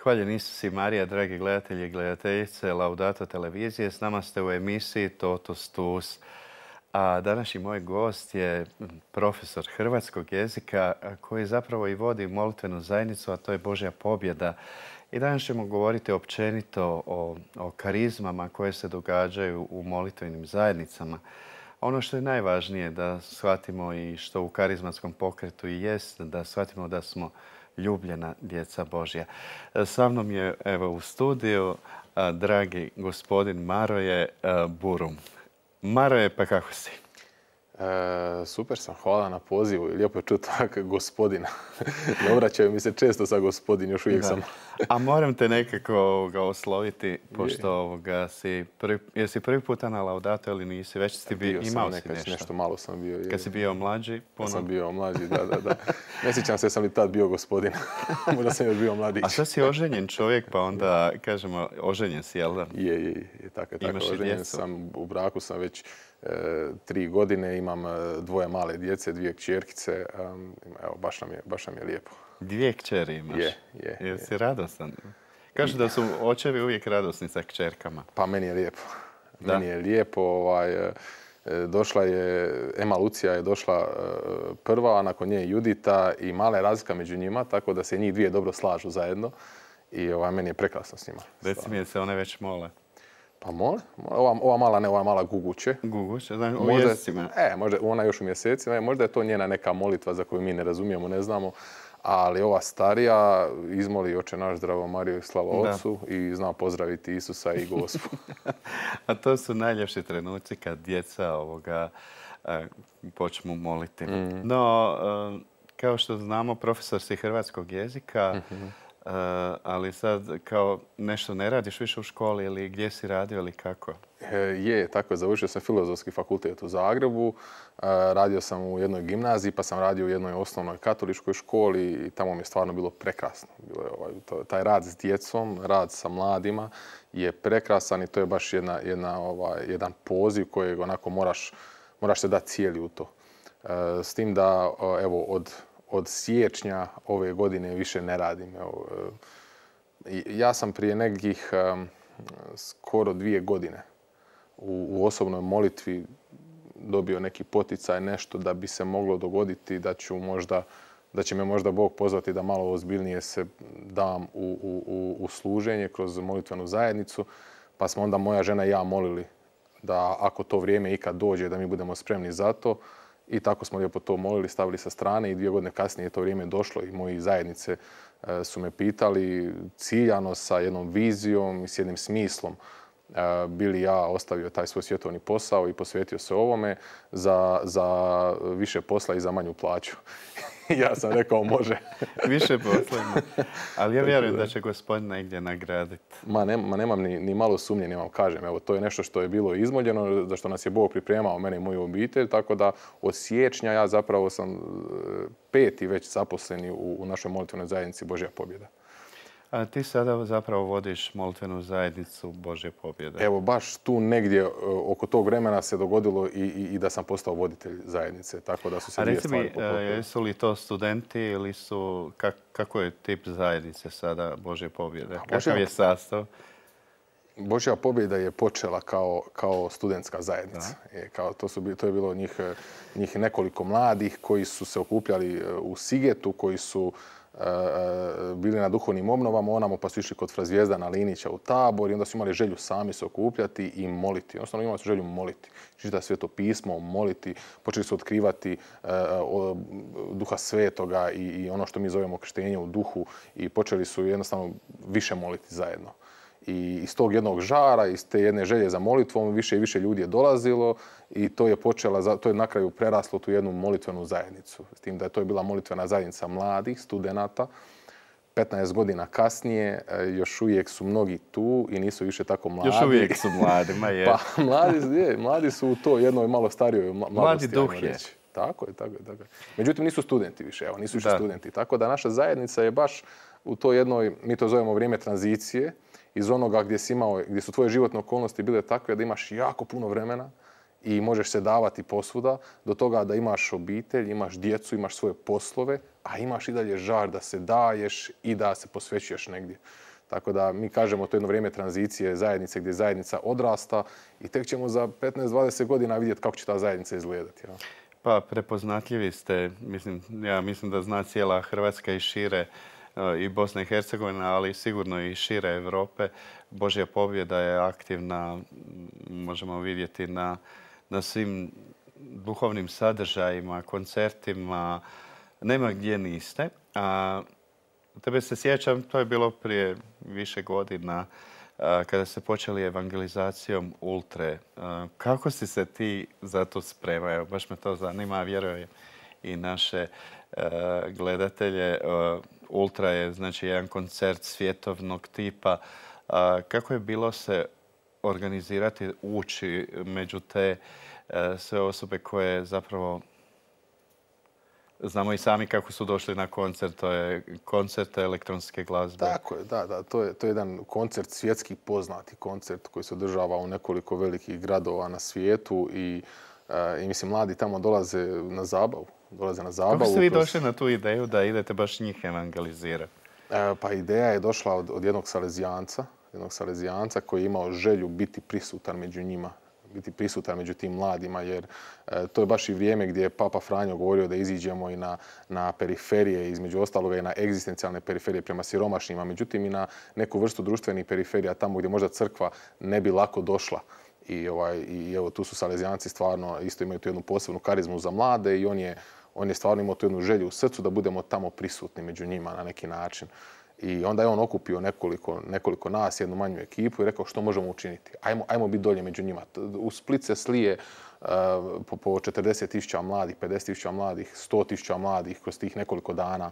Hvaljen Isus i Marija, dragi gledatelji i gledateljice Laudato televizije. S nama ste u emisiji Totus Tuus. A današnji moj gost je profesor hrvatskog jezika koji zapravo i vodi molitvenu zajednicu, a to je Božja pobjeda. I danas ćemo govoriti općenito o karizmama koje se događaju u molitvenim zajednicama. Ono što je najvažnije da shvatimo i što u karizmatskom pokretu i jest, da shvatimo da smo ljubljena djeca Božja. Sa mnom je u studiju dragi gospodin Maroje Burum. Maroje, pa kako si? Super sam, hvala na pozivu. Lijepo je čuti tako gospodina. Ne obraćaju mi se često sa gospodin, još uvijek sam. A moram te nekako osloviti, pošto jesi prvi puta na Laudato ili nisi? Već si imao si nešto? Nešto malo sam bio. Kad si bio mlađi? Kad sam bio mlađi, da. Ne sjećam se, sam li tad bio gospodin. Možda sam još bio mladić. A sad si oženjen čovjek, pa onda kažemo oženjen si, jel da? Je, tako. Oženjen sam, u braku sam već 3 godine, imam 2 male djece, 2 kćerkice. Evo, baš nam je lijepo. 2 kćeri imaš? Je. Jesi radostan? Kažu da su očevi uvijek radosni sa kćerkama. Pa meni je lijepo. Meni je lijepo. Došla je, Ema Lucija je došla prva, a nakon nje Judita i mala je razlika među njima, tako da se njih 2 dobro slažu zajedno. I meni je prekrasno s njima. Reci mi, se one već mole? Pa mole. Ova mala ne, ova mala guguće. Guguće, znači u mjesecima? Možda ona još u mjesecima. Možda je to njena neka molitva za koju mi ne razumijemo, ne znamo. Ali ova starija izmoli Oče naš, zdravo Mariju i slava Otcu i zna pozdraviti Isusa i Gospu. A to su najljepši trenuci kad djeca počnu moliti. No, kao što znamo, profesor si hrvatskog jezika, ali sad kao nešto ne radiš više u školi ili gdje si radio ili kako? Tako je. Završio sam Filozofski fakultet u Zagrebu. Radio sam u jednoj gimnaziji, pa sam radio u jednoj osnovnoj katoličkoj školi i tamo mi je stvarno bilo prekrasno. Taj rad s djecom, rad sa mladima je prekrasan i to je baš jedan poziv kojeg onako moraš se dati cijeli u to. S tim da od siječnja ove godine više ne radim. Ja sam prije nekih skoro 2 godine u osobnoj molitvi dobio neki poticaj, nešto da bi se moglo dogoditi da će me možda Bog pozvati da malo ozbiljnije se dam u služenje kroz molitvenu zajednicu. Pa smo onda moja žena i ja molili da ako to vrijeme ikad dođe da mi budemo spremni za to. I tako smo lijepo to molili, stavili sa strane i 2 godine kasnije je to vrijeme došlo i moji zajednice su me pitali ciljano sa jednom vizijom i s jednim smislom bi li ja ostavio taj svoj svjetovni posao i posvetio se ovome za više posla i za manju plaću. Ja sam rekao može. Više posla ima. Ali ja vjerujem da će Gospodin negdje nagraditi. Nemam ni malo sumnje, nemam kažem. Evo, to je nešto što je bilo izmoljeno, za što nas je Bog pripremao, mene i moju obitelj. Tako da od siječnja ja zapravo sam 5. već zaposleni u našoj molitvenoj zajednici Božja pobjeda. A ti sada zapravo vodiš molitvenu zajednicu Božje pobjede. Evo, baš tu negdje oko tog vremena se dogodilo i da sam postao voditelj zajednice. Tako da su se 2 stvari poklopile. A jesu li to studenti ili su... Kako je tip zajednice sada Božje pobjede? Kakav je sastav? Božja pobjeda je počela kao studentska zajednica. To je bilo njih nekoliko mladih koji su se okupljali u Sigetu, koji su bili na duhovnim obnovama, onamo pa su išli kod fra Zvijezdana Linića u Tabor i onda su imali želju sami se okupljati i moliti. Jednostavno imali su želju moliti. Čitati Sveto pismo, moliti, počeli su otkrivati Duha Svetoga i ono što mi zovemo krštenje u duhu i počeli su jednostavno više moliti zajedno. I iz tog jednog žara, iz te jedne želje za molitvom, više i više ljudi je dolazilo i to je na kraju preraslo tu jednu molitvenu zajednicu. S tim da je to bila molitvena zajednica mladih, studenata. 15 godina kasnije još uvijek su mnogi tu i nisu više tako mladi. Još uvijek su mladi, ma je. Pa mladi su u to jednoj malo starijoj mladosti. Mladi duh je. Tako je. Međutim, nisu studenti više, nisu više studenti. Tako da naša zajednica je baš u to jednoj, mi to zovemo vrijeme tranzicije, iz onoga gdje su tvoje životne okolnosti bile takve da imaš jako puno vremena i možeš se davati posvuda, do toga da imaš obitelj, imaš djecu, imaš svoje poslove, a imaš i dalje žar da se daješ i da se posvećuješ negdje. Tako da mi kažemo to jedno vrijeme tranzicije zajednice gdje zajednica odrasta i tek ćemo za 15-20 godina vidjeti kako će ta zajednica izgledati. Ja. Pa prepoznatljivi ste, ja mislim da zna cijela Hrvatska i šire i Bosna i Hercegovina, ali sigurno i šire Europe. Božja pobjeda je aktivna, možemo vidjeti na svim duhovnim sadržajima, koncertima. Nema gdje niste. Tebe se sjećam, to je bilo prije više godina, kada ste počeli evangelizacijom Ultre. Kako si se ti za to spremao? Baš me to zanima, vjerujem i naše gledatelje. Ultra je znači jedan koncert svjetovnog tipa. Kako je bilo se organizirati, ući među te sve osobe koje zapravo znamo i sami kako su došli na koncert, to je koncert elektronske glazbe. Tako je, da. To je jedan koncert, svjetski poznati koncert koji se održava u nekoliko velikih gradova na svijetu i mislim, mladi tamo dolaze na zabavu. Kako ste vi došli na tu ideju da idete baš njih evangelizirati? Pa ideja je došla od jednog Salezijanca koji je imao želju biti prisutan među njima, biti prisutan među tim mladima, jer to je baš i vrijeme gdje je Papa Franjo govorio da iziđemo i na periferije, između ostaloga i na egzistencijalne periferije prema siromašnjima, međutim i na neku vrstu društvenih periferija, tamo gdje možda crkva ne bi lako došla. I evo, tu su Salezijanci stvarno isto imaju tu jednu posebnu karizmu za mlade i on je stvarno imao tu jednu želju u srcu da budemo tamo prisutni među njima na neki način. I onda je on okupio nekoliko nas, jednu manju ekipu i rekao što možemo učiniti. Ajmo biti dolje među njima. U Split se slije po 40.000 mladih, 50.000 mladih, 100.000 mladih kroz tih nekoliko dana.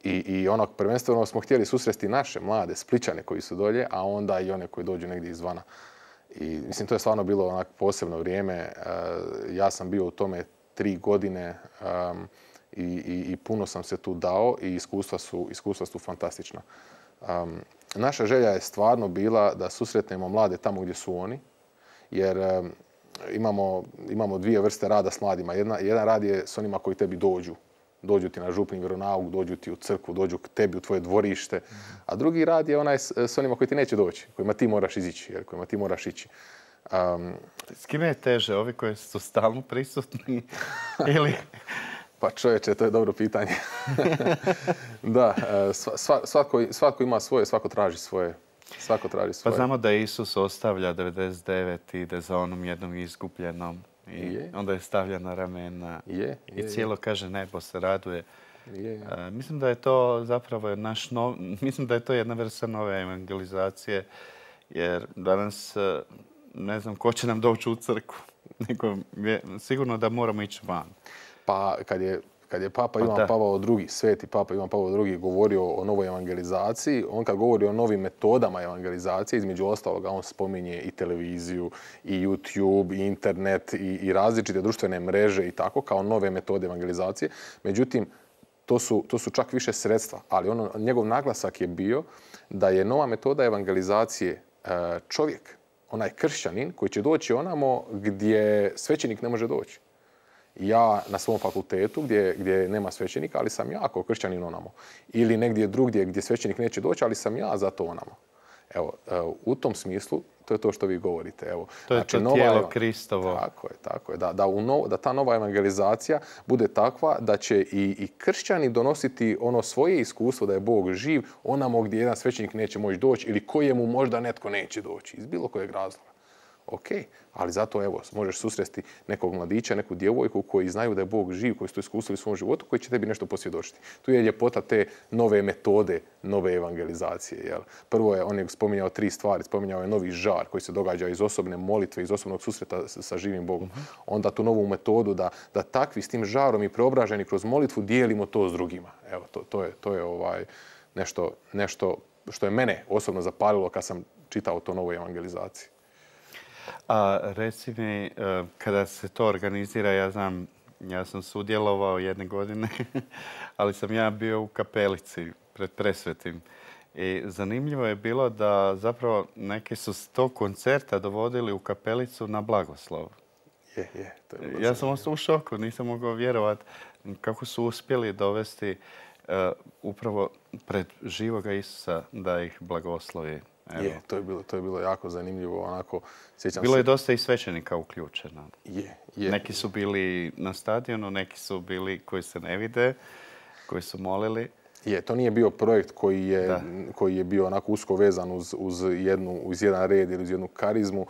I prvenstveno smo htjeli susresti naše mlade Splićane koji su dolje, a onda i one koji dođu negdje izvana. I mislim, to je stvarno bilo onak posebno vrijeme. Ja sam bio u tome 3 godine i puno sam se tu dao i iskustva su fantastična. Naša želja je stvarno bila da susretnemo mlade tamo gdje su oni, jer imamo dvije vrste rada s mladima. Jedan rad je s onima koji tebi dođu. Dođu ti na župni vjeronauk, dođu ti u crkvu, dođu k tebi u tvoje dvorište. A drugi rad je onaj s onima koji ti neće doći, kojima ti moraš izići, kojima ti moraš ići. S kime je teže? Ovi koji su stalno prisutni ili... Pa čovječe, to je dobro pitanje. Da, svatko ima svoje, svako traži svoje. Pa znamo da Isus ostavlja 99 i ide za onom jednom izgubljenom. I onda je stavlja na ramena i cijelo kaže nebo se raduje. Mislim da je to zapravo mislim da je to jedna vrsta nove evangelizacije, jer danas ne znam ko će nam doći u crkvu. Sigurno da moramo ići van. Pa kad je Papa Ivan Pavao II, sveti Papa Ivan Pavao II govorio o novoj evangelizaciji, on kad govori o novim metodama evangelizacije, između ostaloga on spominje i televiziju, i YouTube, i internet, i različite društvene mreže i tako, kao nove metode evangelizacije. Međutim, to su čak više sredstva, ali njegov naglasak je bio da je nova metoda evangelizacije čovjek, onaj kršćanin koji će doći onamo gdje svećenik ne može doći. Ja na svom fakultetu gdje nema svećenika, ali sam ja kao kršćanin onamo. Ili negdje drugdje gdje svećenik neće doći, ali sam ja zato onamo. Evo, u tom smislu, to je to što vi govorite. Evo, to je to tijelo Kristovo. Tako je. Da ta nova evangelizacija bude takva da će i kršćani donositi ono svoje iskustvo da je Bog živ onamo gdje jedan svećenik neće moći doći ili kojemu možda netko neće doći iz bilo kojeg razloga. Ok, ali zato evo, možeš susresti nekog mladića, neku djevojku koji znaju da je Bog živ, koji su to iskusili u svom životu, koji će tebi nešto posvjedočiti. Tu je ljepota te nove metode, nove evangelizacije. Jel? Prvo je, on je spominjao 3 stvari. Spominjao je novi žar koji se događa iz osobne molitve, iz osobnog susreta sa živim Bogom. Onda tu novu metodu da takvi s tim žarom i preobraženi kroz molitvu dijelimo to s drugima. Evo, to je nešto što je mene osobno zapalilo kad sam čitao to novoj evangelizaciji. A reci mi, kada se to organizira, ja sam sudjelovao jedne godine, ali sam ja bio u kapelici pred Presvetim. I zanimljivo je bilo da zapravo neki su s tog koncerta dovodili u kapelicu na blagoslov. To je ja sam ostao u šoku, nisam mogao vjerovati kako su uspjeli dovesti upravo pred živoga Isusa da ih blagoslovi. Evo. Je, to je bilo jako zanimljivo. Onako, Bilo je dosta i svećenika uključeno. Je. Neki su bili na stadionu, neki su bili koji se ne vide, koji su molili. To nije bio projekt koji je bio onako usko vezan uz jedan red ili uz jednu karizmu.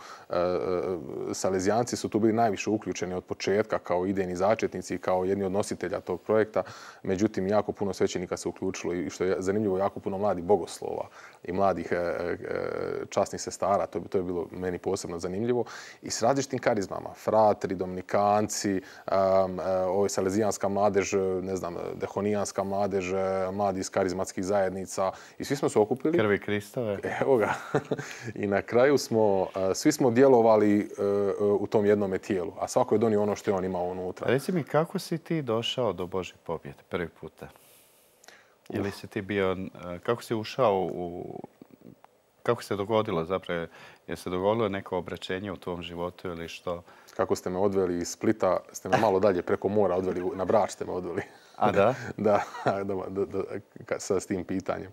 Salezijanci su tu bili najviše uključeni od početka kao idejni začetnici i kao jedni od nositelja tog projekta. Međutim, jako puno svećenika se uključilo i što je zanimljivo, jako puno mladih bogoslova i mladih časnih sestara. To je bilo meni posebno zanimljivo. I s različitim karizmama. Fratri, dominikanci, salezijanska mladež, ne znam, dehonijanska mladež, mladi iz karizmatskih zajednica i svi smo se okupili. Krvi Kristove. Evo ga. I na kraju svi smo djelovali u tom jednome tijelu, a svako je donio ono što je on imao unutra. Reci mi, kako si ti došao do Božje pobjede prvi puta? Ili si ti bio, kako si ušao kako se dogodilo zapravo? Je se dogodilo neko obraćenje u tvom životu ili što? Kako ste me odveli iz Splita, ste me malo dalje preko mora odveli, na Brač ste me odveli. A da? Da, s tim pitanjem.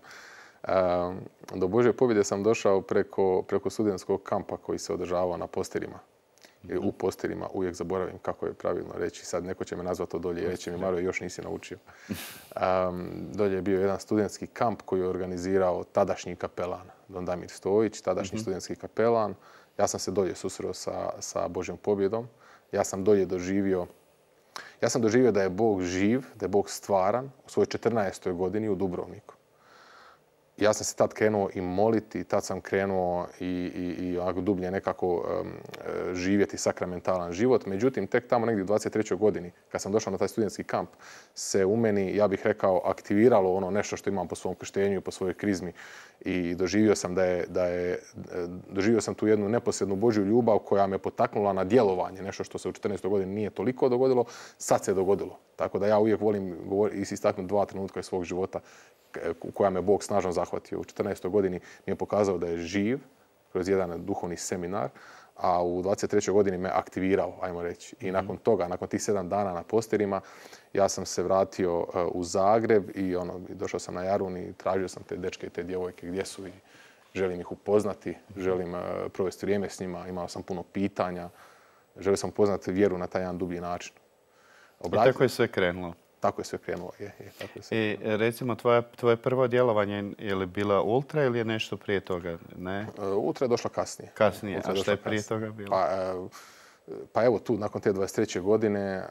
Do Božje pobjede sam došao preko studentskog kampa koji se održavao na Postirima. U Postirima, uvijek zaboravim kako je pravilno reći. Sad neko će me nazvati to dolje i reći mi, Maro, još nisi naučio. Dolje je bio jedan studentski kamp koji je organizirao tadašnji kapelan, Don Damir Stojić, tadašnji studentski kapelan. Ja sam se dolje susreo sa Božjom pobjedom. Ja sam doživio da je Bog živ, da je Bog stvaran u svojoj 14. godini u Dubrovniku. Ja sam se tad krenuo i moliti, tad sam krenuo i dublje nekako živjeti sakramentalan život. Međutim, tek tamo negdje u 23. godini, kad sam došao na taj studentski kamp, se u meni, ja bih rekao, aktiviralo ono nešto što imam po svom krštenju i po svojoj krizmi. I doživio sam tu jednu neposrednu Božju ljubav koja me potaknula na djelovanje. Nešto što se u 14. godini nije toliko dogodilo, sad se dogodilo. Tako da ja uvijek volim istaknuti 2 trenutka iz svog života u koja me Bog snažno zahvatio. U 14. godini mi je pokazao da je živ kroz jedan duhovni seminar, a u 23. godini me aktivirao, ajmo reći. I nakon toga, nakon tih 7 dana na Postirima, ja sam se vratio u Zagreb i došao sam na Jarun i tražio sam te dečke i te djevojke gdje su i želim ih upoznati, želim provesti vrijeme s njima, imao sam puno pitanja, želio sam upoznati vjeru na taj jedan dublji način. I tako je sve krenulo. Tako je sve krenulo. I recimo, tvoje prvo djelovanje je li bila Ultra ili je nešto prije toga? Ne? Ultra je došla kasnije. Kasnije, a što je prije toga bilo? Pa evo tu, nakon te 23. godine,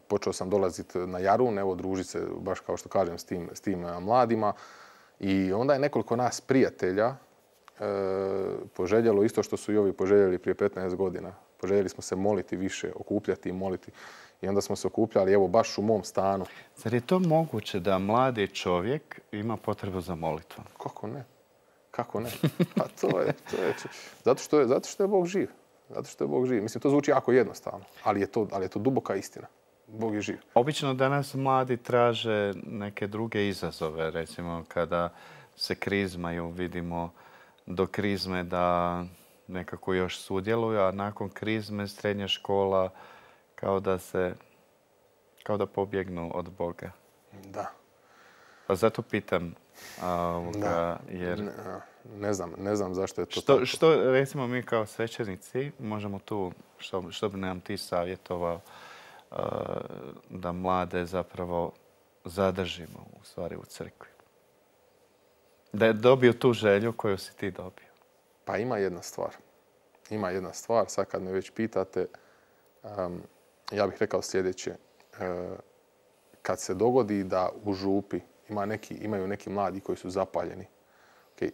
počeo sam dolaziti na Jarun, evo družiti se, baš kao što kažem, s tim mladima. I onda je nekoliko nas prijatelja poželjelo isto što su i ovi poželjeli prije 15 godina. Poželjeli smo se moliti više, okupljati i moliti. I onda smo se okupljali, evo, baš u mom stanu. Zar je to moguće da mladi čovjek ima potrebu za molitvom? Kako ne? Kako ne? Pa to je. Zato što je Bog živ. Zato što je Bog živ. Mislim, to zvuči jako jednostavno, ali je to duboka istina. Bog je živ. Obično danas mladi traže neke druge izazove. Recimo, kada se krizmaju, vidimo do krizme da nekako još sudjeluju, a nakon krizme srednja škola kao da pobjegnu od Boga. Da. Pa zato pitam, jer... Ne znam zašto je to tako. Što, recimo, mi kao svećenici možemo tu, što bi nam ti savjetovao da mlade zapravo zadržimo u stvari u crkvi? Da dobiju tu želju koju si ti dobio. Pa ima jedna stvar. Sad kad me već pitate, ja bih rekao sljedeće. Kad se dogodi da u župi imaju neki mladi koji su zapaljeni,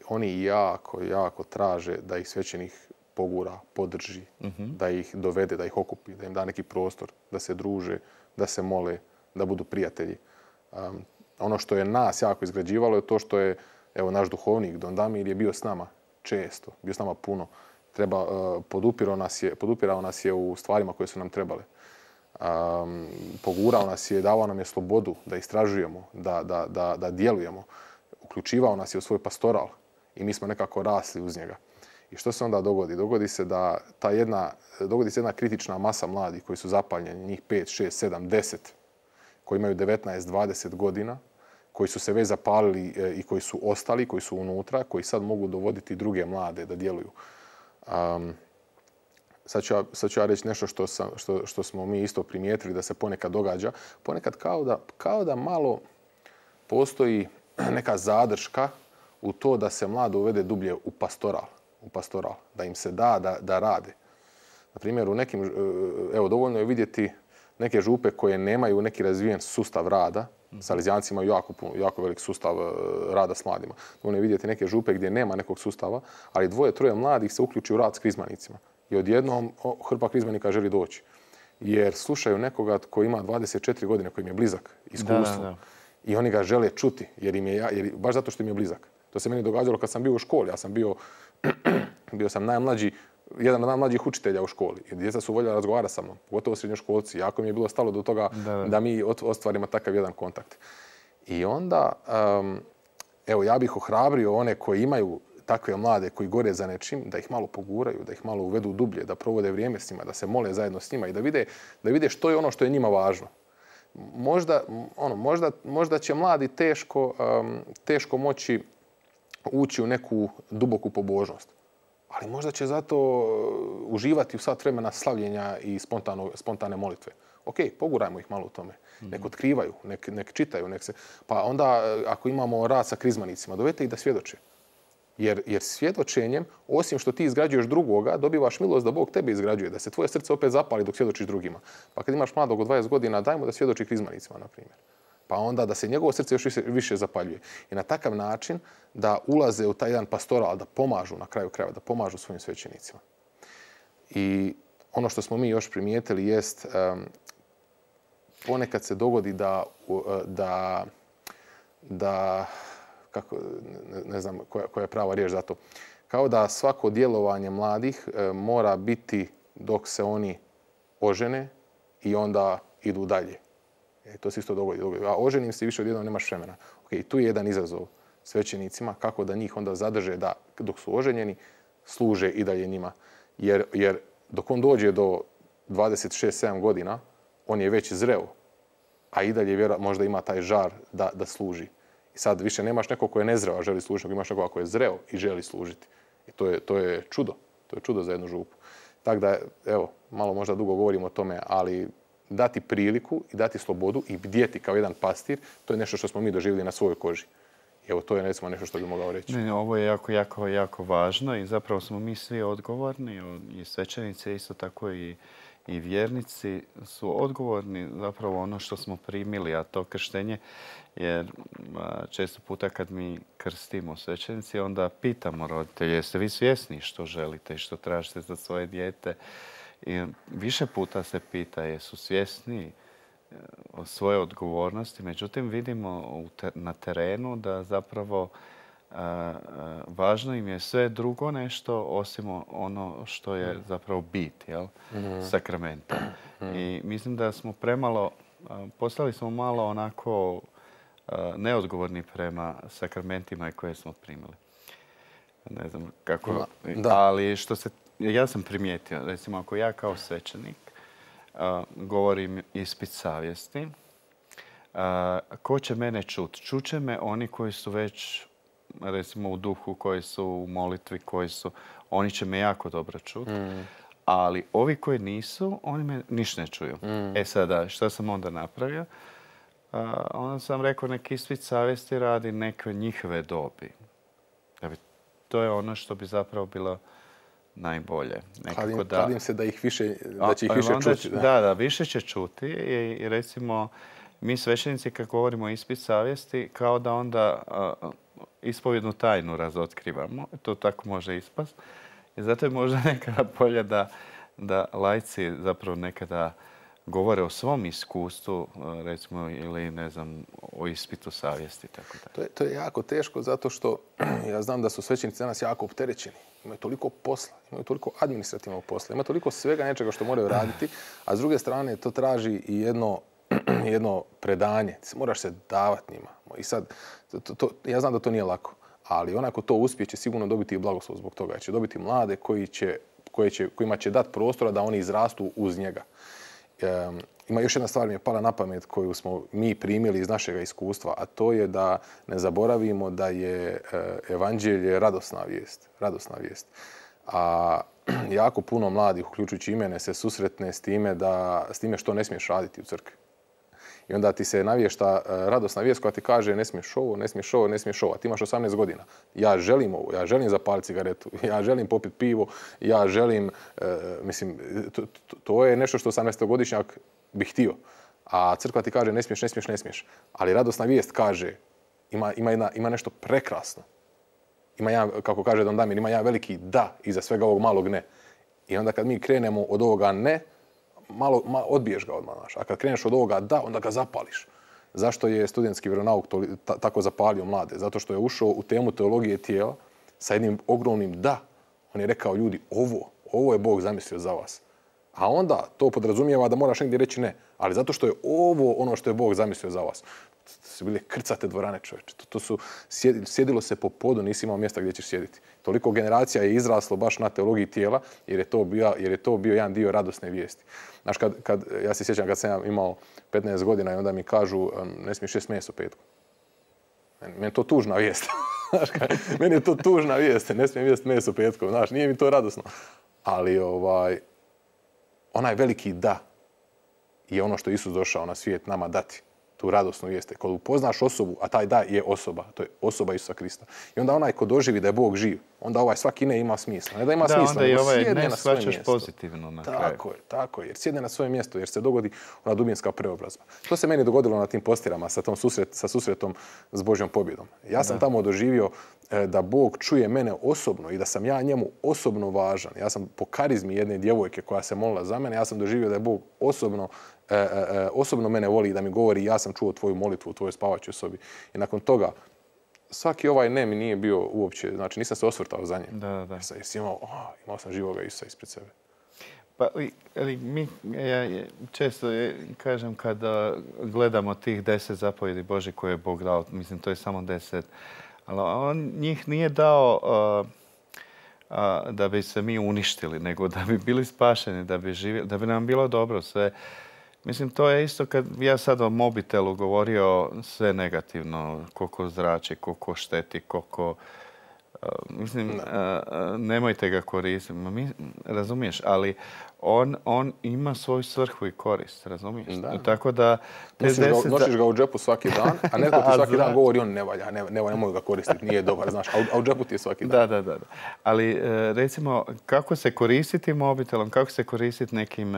oni jako traže da ih svećenik pogura, podrži, da ih dovede, da ih okupi, da im da neki prostor, da se druže, da se mole, da budu prijatelji. Ono što je nas jako izgrađivalo je to što je, evo, naš duhovnik Don Damir je bio s nama često, bio s nama puno. Podupirao nas je u stvarima koje su nam trebale. Pogurao nas je, davao nam je slobodu da istražujemo, da djelujemo. Uključivao nas je u svoj pastoral i mi smo nekako rasli uz njega. I što se onda dogodi? Dogodi se jedna kritična masa mladih koji su zapaljeni, njih 5, 6, 7, 10, koji imaju 19, 20 godina, koji su se već zapalili i koji su ostali, koji su unutra, koji sad mogu dovoditi druge mlade da djeluju. Sad ću ja reći nešto što smo mi isto primijetili da se ponekad događa. Ponekad kao da malo postoji neka zadrška u to da se mlado uvede dublje u pastoral, da im se da rade. Na primjer, dovoljno je vidjeti neke župe koje nemaju neki razvijen sustav rada. Salezijanci imaju jako velik sustav rada s mladima. Dovoljno je vidjeti neke župe gdje nema nekog sustava, ali 2-3 mladih se uključi u rad s krizmanicima. I odjednom hrpa krizmanika želi doći. Jer slušaju nekoga koji ima 24 godine, koji im je blizak iskustvu. I oni ga žele čuti, baš zato što im je blizak. To se meni događalo kad sam bio u školi. Ja sam bio sam jedan od najmlađih učitelja u školi. I djeca su voljela razgovarati sa mnom, pogotovo srednjoškolci. Jako mi je bilo stalo do toga da mi ostvarimo takav jedan kontakt. I onda, ja bih ohrabrio one koji imaju takve mlade koji gore za nečim, da ih malo poguraju, da ih malo uvedu dublje, da provode vrijeme s njima, da se mole zajedno s njima i da vide što je ono što je njima važno. Možda će mladi teško moći ući u neku duboku pobožnost. Ali možda će zato uživati u sat vremena slavljenja i spontane molitve. Ok, pogurajmo ih malo u tome. Nek otkrivaju, nek čitaju, pa onda ako imamo rad sa krizmanicima, dovedite ih da svjedoče. Jer svjedočenjem, osim što ti izgrađuješ drugoga, dobivaš milost da Bog tebe izgrađuje, da se tvoje srce opet zapali dok svjedočiš drugima. Pa kad imaš mladog od 20 godina, daj mu da svjedoči krizmanicima, na primjer. Pa onda da se njegovo srce još više zapaljuje. I na takav način da ulaze u taj jedan pastoral, da pomažu na kraju krajeva, da pomažu svojim svećenicima. I ono što smo mi još primijetili jest ponekad se dogodi da kako, ne znam koja je prava riječ za to, kao da svako djelovanje mladih mora biti dok se oni ožene i onda idu dalje. To se isto dogodi. A oženim se više odjednom nemaš vremena. Okay, tu je jedan izazov svećenicima kako da njih onda zadrže da dok su oženjeni služe i dalje njima. Jer dok on dođe do 26-7 godina, on je već zreo, a i dalje možda ima taj žar da služi. I sad više nemaš nekog ko je nezreo, a želi služiti, nego imaš nekoga ko je zreo i želi služiti. I to je čudo. To je čudo za jednu župu. Tako da, malo možda dugo govorimo o tome, ali dati priliku i dati slobodu i bdjeti kao jedan pastir, to je nešto što smo mi doživjeli na svojoj koži. I to je recimo nešto što bi mogao reći. Ne, ovo je jako važno i zapravo smo mi svi odgovorni, i svećenici, isto tako i vjernici su odgovorni zapravo ono što smo primili, a to krštenje, jer često puta kad mi krstimo svećenici, onda pitamo roditelje, jeste vi svjesni što želite i što tražite za svoje dijete? I više puta se pita jesu svjesni o svoje odgovornosti, međutim vidimo na terenu da zapravo važno im je sve drugo nešto osim ono što je zapravo bit, sakramenta. I mislim da smo postali smo malo onako neodgovorni prema sakramentima koje smo primili. Ne znam kako, ali ja sam primijetio, recimo ako ja kao svećenik govorim ispit savjesti, ko će mene čuti? Čuće me oni koji su već recimo u duhu, koji su u molitvi, oni će me jako dobro čuti. Ali ovi koji nisu, oni me ništa ne čuju. Sada, što sam onda napravio? Onda sam rekao neki ispit savjesti radi neke njihove dobi. To je ono što bi zapravo bilo najbolje. Kladim se da će ih više čuti. Da, više će čuti i recimo mi svećenici kad govorimo o ispit savjesti kao da onda ispovjednu tajnu razotkrivamo. To tako može ispast. I zato je možda nekada bolje da laici zapravo nekada govore o svom iskustvu, recimo, ili ne znam, o ispitu savjesti. To je jako teško zato što ja znam da su svećenici danas jako opterećeni. Imaju toliko posla, imaju toliko administrativnog posla, ima toliko svega nečega što moraju raditi, a s druge strane to traži i jedno predanje. Moraš se davati njima. I sad, ja znam da to nije lako, ali onako to uspije će sigurno dobiti i blagoslov zbog toga. Jer će dobiti mlade kojima će dati prostora da oni izrastu uz njega. ima još jedna stvar mi je pala na pamet koju smo mi primili iz našeg iskustva, a to je da ne zaboravimo da je evanđelje radosna vijest. Radosna vijest. A jako puno mladih, uključujući i mene, se susretne s time što ne smiješ raditi u crkvi. I onda ti se navješta radosna vijest koja ti kaže ne smiješ ovo, ne smiješ ovo, ne smiješ ovo. A ti imaš 18 godina. Ja želim ovo, ja želim zapaliti cigaretu, ja želim popiti pivo, ja želim, mislim, to je nešto što 18-godišnjak bi htio. A crkva ti kaže ne smiješ, ne smiješ, ne smiješ. Ali radosna vijest kaže, ima nešto prekrasno. Ima jedan, kako kaže Don Damir, ima jedan veliki da iza svega ovog malog ne. I onda kad mi krenemo od ovoga ne, malo odbiješ ga odmah, znaš. A kad kreneš od ovoga da, onda ga zapališ. Zašto je studentski vjeronauk tako zapalio mlade? Zato što je ušao u temu teologije tijela sa jednim ogromnim da. On je rekao, ljudi, ovo je Bog zamislio za vas. A onda to podrazumijeva da moraš negdje reći ne. Ali zato što je ovo ono što je Bog zamislio za vas. To su bile krcate dvorane, čovječe. Sjedilo se po podu, nisi imao mjesta gdje ćeš sjediti. Toliko generacija je izraslo baš na teologiji tijela, jer je to bio jedan dio radosne vijesti. Znaš, ja se sjećam kad sam ja imao 15 godina i onda mi kažu ne smiješ jesti meso petkom. Meni je to tužna vijest. Meni je to tužna vijest, ne smijem jesti meso petkom. Znaš, nije mi to radosno. Ali onaj veliki da je ono što je Isus došao na svijet nama dati. Tu radosnu vijest. Kad upoznaš osobu, a taj da je osoba, to je osoba Isusa Krista. I onda onaj ko doživi da je Bog živ, onda ovaj svaki ne ima smisla. Ne da ima smisla, nego sjedne na svoje mjesto. Pozitivno na kraju. Tako je. Jer sjedne na svoje mjesto, jer se dogodi ona dubinska preobrazba. To se meni dogodilo na tim postirama sa susretom s Božjom pobjedom. Ja sam tamo doživio da Bog čuje mene osobno i da sam ja njemu osobno važan. Ja sam po karizmi jedne djevojke koja se molila za mene, ja sam doživio da je Bog osobno mene voli i da mi govori ja sam čuo tvoju molitvu u tvojoj spavaćoj sobi. I nakon toga svaki ovaj ne mi nije bio uopće, znači nisam se osvrtao za njim. Da. Jer si imao sam živoga Isusa ispred sebe. Pa, ali ja često kažem kada gledamo tih 10 zapovjedi Božih koje je Bog dao, mislim to je samo 10, ali on njih nije dao da bi se mi uništili, nego da bi bili spašeni, da bi nam bilo dobro sve. Mislim, to je isto kad ja sad o mobitelu govorio sve negativno, koliko zrači, koliko šteti, koliko... Mislim, nemojte ga koristiti, razumiješ, ali on ima svoju svrhu i korist, razumiješ? Tako da... Nosiš ga u džepu svaki dan, a netko ti svaki dan govori on ne valja, nemoj ga koristiti, nije dobar, znaš, a u džepu ti je svaki dan. Da. Ali recimo, kako se koristiti mobitelom, kako se koristiti nekim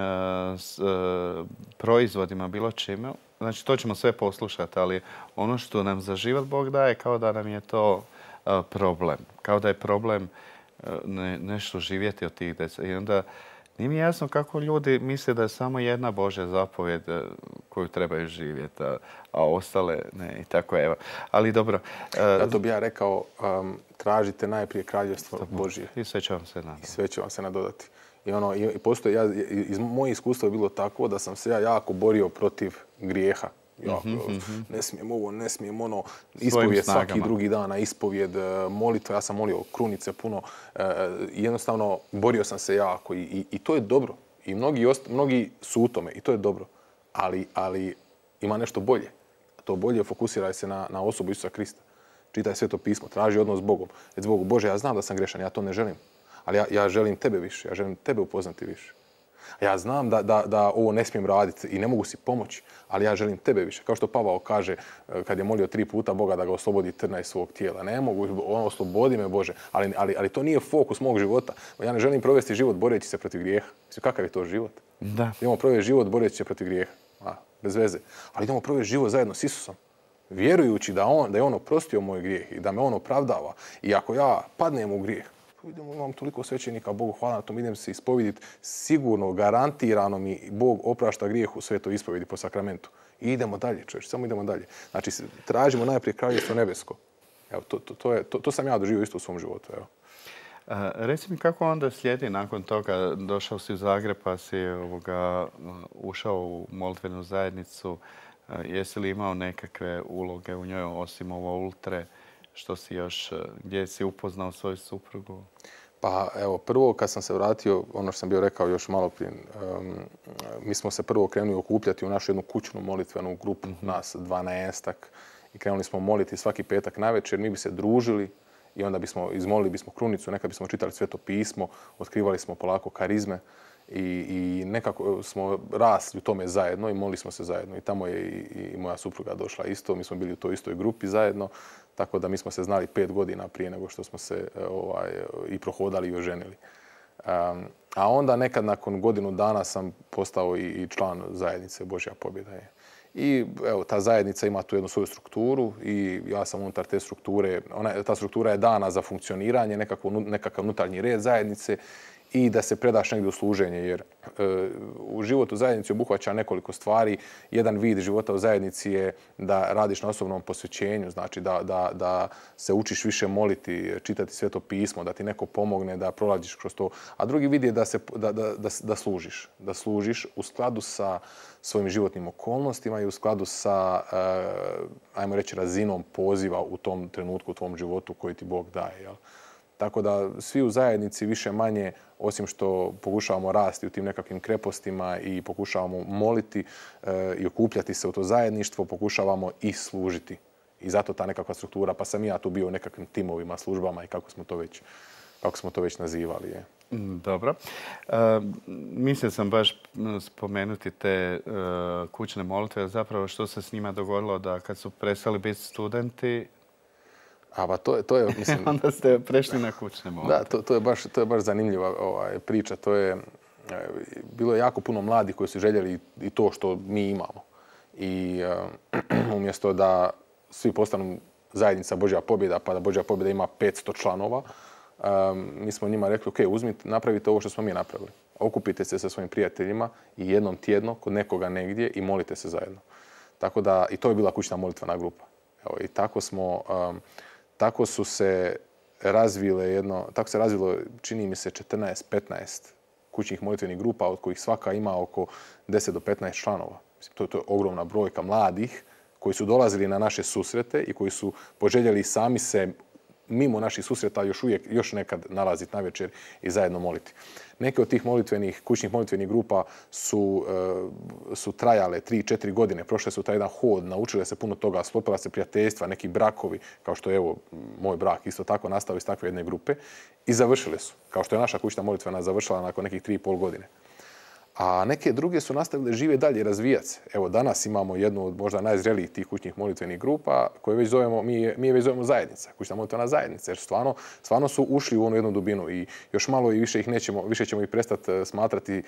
proizvodima, bilo čime, znači to ćemo sve poslušati, ali ono što nam za život Bog daje, kao da nam je to problem. Kao da je problem nešto živjeti od tih 10. I onda nije mi jasno kako ljudi misle da je samo jedna Božja zapovjed koju trebaju živjeti, a ostale ne. I tako evo. Ali dobro. Zato bi ja rekao, tražite najprije kraljevstvo Božje. I sve će vam se nadodati. I sve će vam se nadodati. I postoji, iz moje iskustva je bilo tako da sam se ja jako borio protiv grijeha. Ne smijem ovo, ne smijem ono, ispovjed svaki drugi dan, ispovjed, molitva, ja sam molio krunice puno, jednostavno borio sam se jako i to je dobro. I mnogi su u tome i to je dobro, ali ima nešto bolje. To bolje fokusiraj se na osobu Isusa Krista. Čitaj Sveto pismo, traži odnos s Bogom. Reci Bogu, Bože, ja znam da sam grešan, ja to ne želim, ali ja želim tebe više, ja želim tebe upoznati više. Ja znam da ovo ne smijem raditi i ne mogu si pomoći, ali ja želim tebe više. Kao što Pavao kaže kad je molio 3 puta Boga da ga oslobodi trna iz svog tijela. Ne mogu, oslobodi me Bože, ali to nije fokus mog života. Ja ne želim provesti život boreći se protiv grijeha. Kakav je to život? Da. Idemo provesti život boreći se protiv grijeha. Bez veze. Ali idemo provesti život zajedno s Isusom. Vjerujući da je on oprostio moj grijeh i da me on opravdava. I ako ja padnem u grijeh, imam toliko svećenika, Bogu hvala na tom, idem se ispoviditi, sigurno, garantirano mi Bog oprašta grijeh u svetoj ispovedi po sakramentu. I idemo dalje, čovječ, samo idemo dalje. Znači, tražimo najprije kraljevstvo nebesko. Evo, to sam ja doživio isto u svom životu. Evo. Reci mi kako onda slijedi nakon toga, došao si u Zagreb pa si ušao u molitvenu zajednicu. Jesi li imao nekakve uloge u njoj osim ovo ultre? Što si još, gdje si upoznao svoju suprugu? Pa evo, prvo kad sam se vratio, ono što sam bio rekao još malo prije, mi smo se prvo krenuli okupljati u našu jednu kućnu molitvenu grupu, nas 12-ak, i krenuli smo moliti svaki petak navečer, mi bi se družili i onda izmolili bismo krunicu, nekad bismo čitali Sveto pismo, otkrivali smo polako karizme i nekako smo rasli u tome zajedno i molili smo se zajedno. I tamo je i moja supruga došla isto, mi smo bili u toj istoj grupi zajedno, tako da mi smo se znali 5 godina prije nego što smo se i prohodali i oženili. A onda nekad nakon godinu dana sam postao i član zajednice Božja pobjeda. I evo, ta zajednica ima tu jednu svoju strukturu i ja sam unutar te strukture, ta struktura je dana za funkcioniranje, nekakav unutarnji red zajednice i da se predaš negdje u služenje, jer u životu zajednici obuhvaća nekoliko stvari. Jedan vid života u zajednici je da radiš na osobnom posvećenju, znači da se učiš više moliti, čitati Sveto pismo, da ti neko pomogne, da prolaziš kroz to. A drugi vid je da služiš. Da služiš u skladu sa svojim životnim okolnostima i u skladu sa, ajmo reći, razinom poziva u tom trenutku, u tvom životu koji ti Bog daje. Jel? Tako da svi u zajednici više manje, osim što pokušavamo rasti u tim nekakvim krepostima i pokušavamo moliti i okupljati se u to zajedništvo, pokušavamo i služiti. I zato ta nekakva struktura, pa sam i ja tu bio u nekakvim timovima, službama i kako smo to već nazivali. Je. Dobro. Mislio sam baš spomenuti te kućne molitve, zapravo što se s njima dogodilo da kad su prestali biti studenti, to je, mislim... Onda ste prešli na kućne molitve. Da, to je baš zanimljiva priča. Bilo je jako puno mladih koji su željeli i to što mi imamo. I umjesto da svi postanu zajednica Božja pobjeda, pa da Božja pobjeda ima 500 članova, mi smo njima rekli, ok, napravite ovo što smo mi napravili. Okupite se sa svojim prijateljima i jednom tjedno kod nekoga negdje i molite se zajedno. Tako da, i to je bila kućna molitvena grupa. Evo, i tako se razvilo, čini mi se, 14-15 kućnih molitvenih grupa, od kojih svaka ima oko 10 do 15 članova. To je ogromna brojka mladih koji su dolazili na naše susrete i koji su poželjeli sami se mimo naših susreta još nekad nalaziti navečer i zajedno moliti. Neke od tih kućnih molitvenih grupa su trajale 3-4 godine. Prošle su taj jedan hod, naučile se puno toga, sklopila se prijateljstva, neki brakovi, kao što je evo moj brak isto tako nastao iz takve jedne grupe i završile su. Kao što je naša kućna molitvena završila nakon nekih 3,5 godine. A neke druge su nastavile žive dalje i razvijati se. Evo, danas imamo jednu od možda najzrelijih tih kućnih molitvenih grupa koje mi je već zovemo zajednica, kućna molitvena zajednica, jer stvarno su ušli u onu jednu dubinu i još malo i više ćemo ih prestati smatrati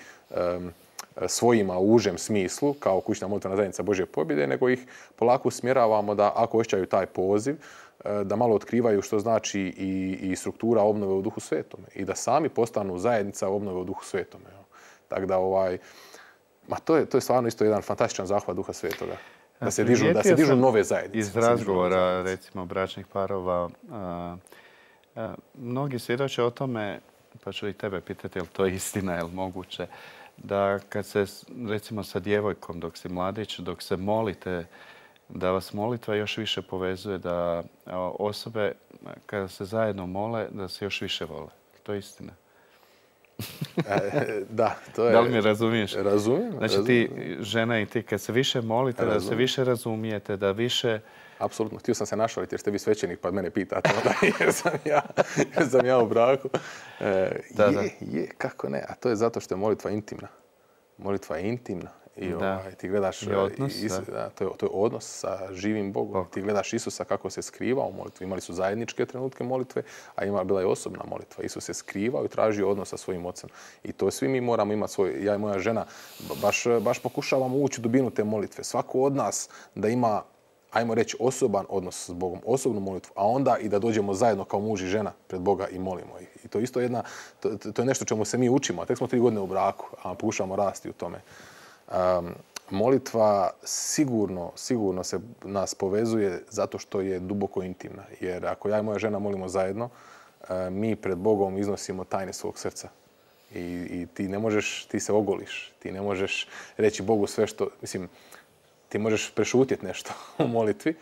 svojima u užem smislu, kao kućna molitvena zajednica Božje pobjede, nego ih polako usmjeravamo da ako osjećaju taj poziv, da malo otkrivaju što znači i struktura obnove u Duhu Svetome i da sami postanu zajednica obnove u Duhu Svetome. Tako da to je stvarno isto jedan fantastičan zahvat Duha Svetoga. Da se dižu nove zajednice. Iz razgovora, recimo, bračnih parova, mnogi svjedoče o tome, pa ću i tebe pitati, je li to istina, je li moguće, da kad se, recimo, sa djevojkom, dok si mladić, dok se molite, da vas molitva još više povezuje, da osobe, kada se zajedno mole, da se još više vole. To je istina. Da, to je... Da li me razumiješ? Razumijem. Znači ti, žena i ti, kad se više molite, da se više razumijete, da više... Apsolutno. Htio sam se našaliti jer ste vi svećenik pa mene pitate onda jer sam ja u braku. Kako ne? A to je zato što je molitva intimna. Molitva je intimna. I ti gledaš, to je odnos sa živim Bogom. Ti gledaš Isusa kako se skriva u molitvi. Imali su zajedničke trenutke molitve, a bila je osobna molitva. Isus se skrivao i tražio odnos sa svojim ocem. I to svi mi moramo imati svoj, ja i moja žena, baš pokušavamo ući u dubinu te molitve. Svako od nas da ima, ajmo reći, osoban odnos s Bogom, osobnu molitvu, a onda i da dođemo zajedno kao muž i žena pred Boga i molimo ih. I to isto to je nešto čemu se mi učimo. A tek smo 3 godine u braku, a pokušavamo rasti u tome. Molitva sigurno se nas povezuje zato što je duboko intimna. Jer ako ja i moja žena molimo zajedno, mi pred Bogom iznosimo tajne svog srca. I ti se ogoliš. Ti ne možeš reći Bogu sve što... Mislim, ti možeš prešutjeti nešto u molitvi,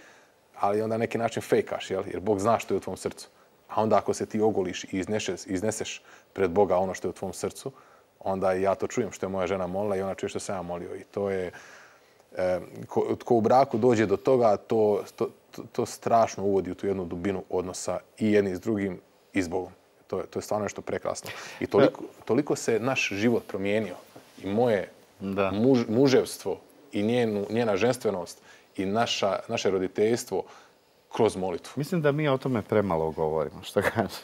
ali onda na neki način fejkaš, jer Bog zna što je u tvom srcu. A onda ako se ti ogoliš i izneseš pred Boga ono što je u tvom srcu, onda ja to čujem što je moja žena molila i ona čuje što sam ja molio. I to je, ko u braku dođe do toga, to strašno uvodi u tu jednu dubinu odnosa i jedni s drugim i s Bogom. To je stvarno nešto prekrasno. I toliko se naš život promijenio. I moje muževstvo i njena ženstvenost i naše roditeljstvo kroz molitvu. Mislim da mi o tome premalo govorimo. Što kažeš?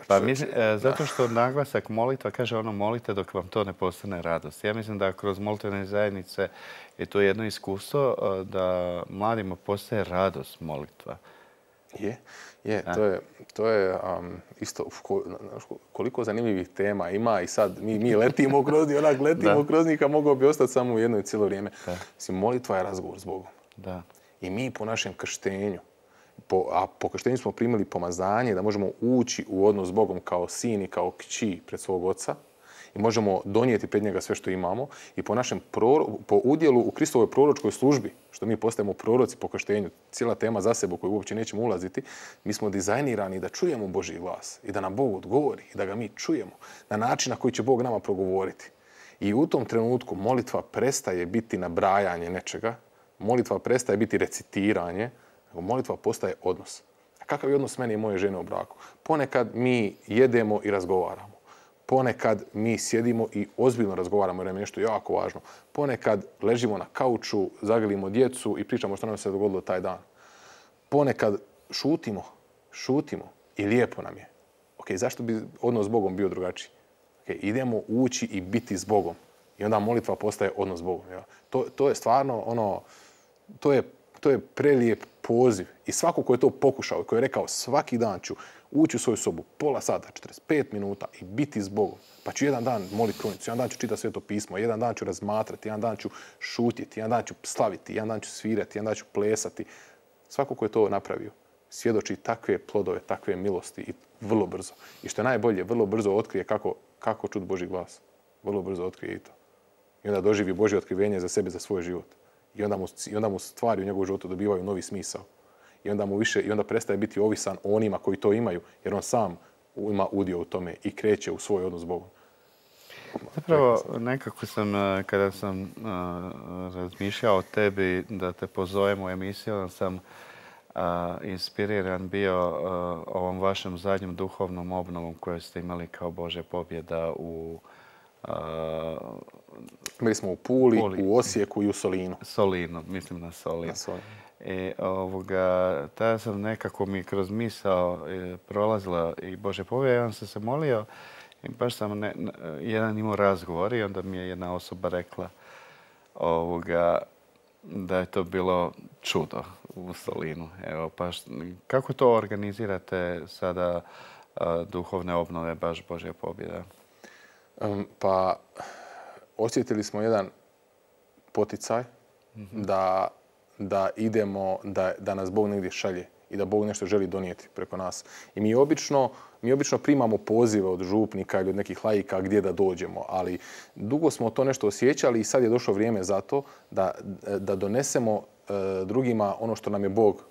Pa mislim, zato što naglasak molitva kaže ono molite dok vam to ne postane radost. Ja mislim da kroz molitvene zajednice je to jedno iskustvo da mladima postaje radost molitva. To je isto koliko zanimljivih tema ima i sad mi letimo kroz njih, onak letimo kroz njih, a mogao bi ostati samo u jednoj cijelo vrijeme. Mislim, molitva je razgovor s Bogom. Da. I mi po našem krštenju, a po krštenju smo primili pomazanje da možemo ući u odnos s Bogom kao sin i kao kći pred svog oca i možemo donijeti pred njega sve što imamo i po udjelu u Kristovoj proročkoj službi, što mi postajemo proroci po krštenju, cijela tema za sebe u koju uopće nećemo ulaziti, mi smo dizajnirani da čujemo Božji glas i da nam Bog odgovori i da ga mi čujemo na način na koji će Bog nama progovoriti. I u tom trenutku molitva prestaje biti nabrajanje nečega, molitva prestaje biti recitiranje, nego molitva postaje odnos. A kakav je odnos meni i moje žene u braku? Ponekad mi jedemo i razgovaramo. Ponekad mi sjedimo i ozbiljno razgovaramo jer nam je nešto jako važno. Ponekad ležimo na kauču, zagrlimo djecu i pričamo što nam se dogodilo taj dan. Ponekad šutimo i lijepo nam je. Zašto bi odnos s Bogom bio drugačiji? Idemo ući i biti s Bogom. I onda molitva postaje odnos s Bogom. Ja. To je stvarno to je prelijep poziv. I svako ko je to pokušao, ko je rekao svaki dan ću ući u svoju sobu, pola sata, 45 minuta i biti s Bogom. Pa ću jedan dan moliti kronicu, jedan dan ću čitati Sveto pismo, jedan dan ću razmatrati, jedan dan ću šutjeti, jedan dan ću slaviti, jedan dan ću svirati, jedan dan ću plesati. Svako ko je to napravio, svjedoči takve plodove, takve milosti i vrlo brzo. I što je najbolje, vrlo brzo otkrije kako čuti Božji glas. Vrlo brzo otkrije i to. I onda doživi Božje otkrivenje za sebe, za svoj život. I onda mu stvari u njegovu životu dobivaju novi smisao. I onda prestaje biti ovisan o onima koji to imaju, jer on sam ima udio u tome i kreće u svoj odnos s Bogom. Zapravo, nekako kada sam razmišljao o tebi da te pozovem u emisiju, onda sam inspiriran bio ovom vašem zadnjem duhovnom obnovom koju ste imali kao Božja pobjeda u Bili smo u Puli, u Osijeku i u Solinu. Solinu, mislim na Solin. I tada sam nekako mi kroz misao prolazila i Božja pobjeda. Ja sam se molio i baš sam jedan imao razgovor i onda mi je jedna osoba rekla da je to bilo čudo u Solinu. Evo, kako to organizirate sada duhovne obnove baš Božja pobjeda? Pa osjetili smo jedan poticaj da idemo, da nas Bog negdje šalje i da Bog nešto želi donijeti preko nas. I mi obično primamo pozive od župnika ili od nekih laika gdje da dođemo, ali dugo smo to nešto osjećali i sad je došlo vrijeme za to da donesemo drugima ono što nam je Bog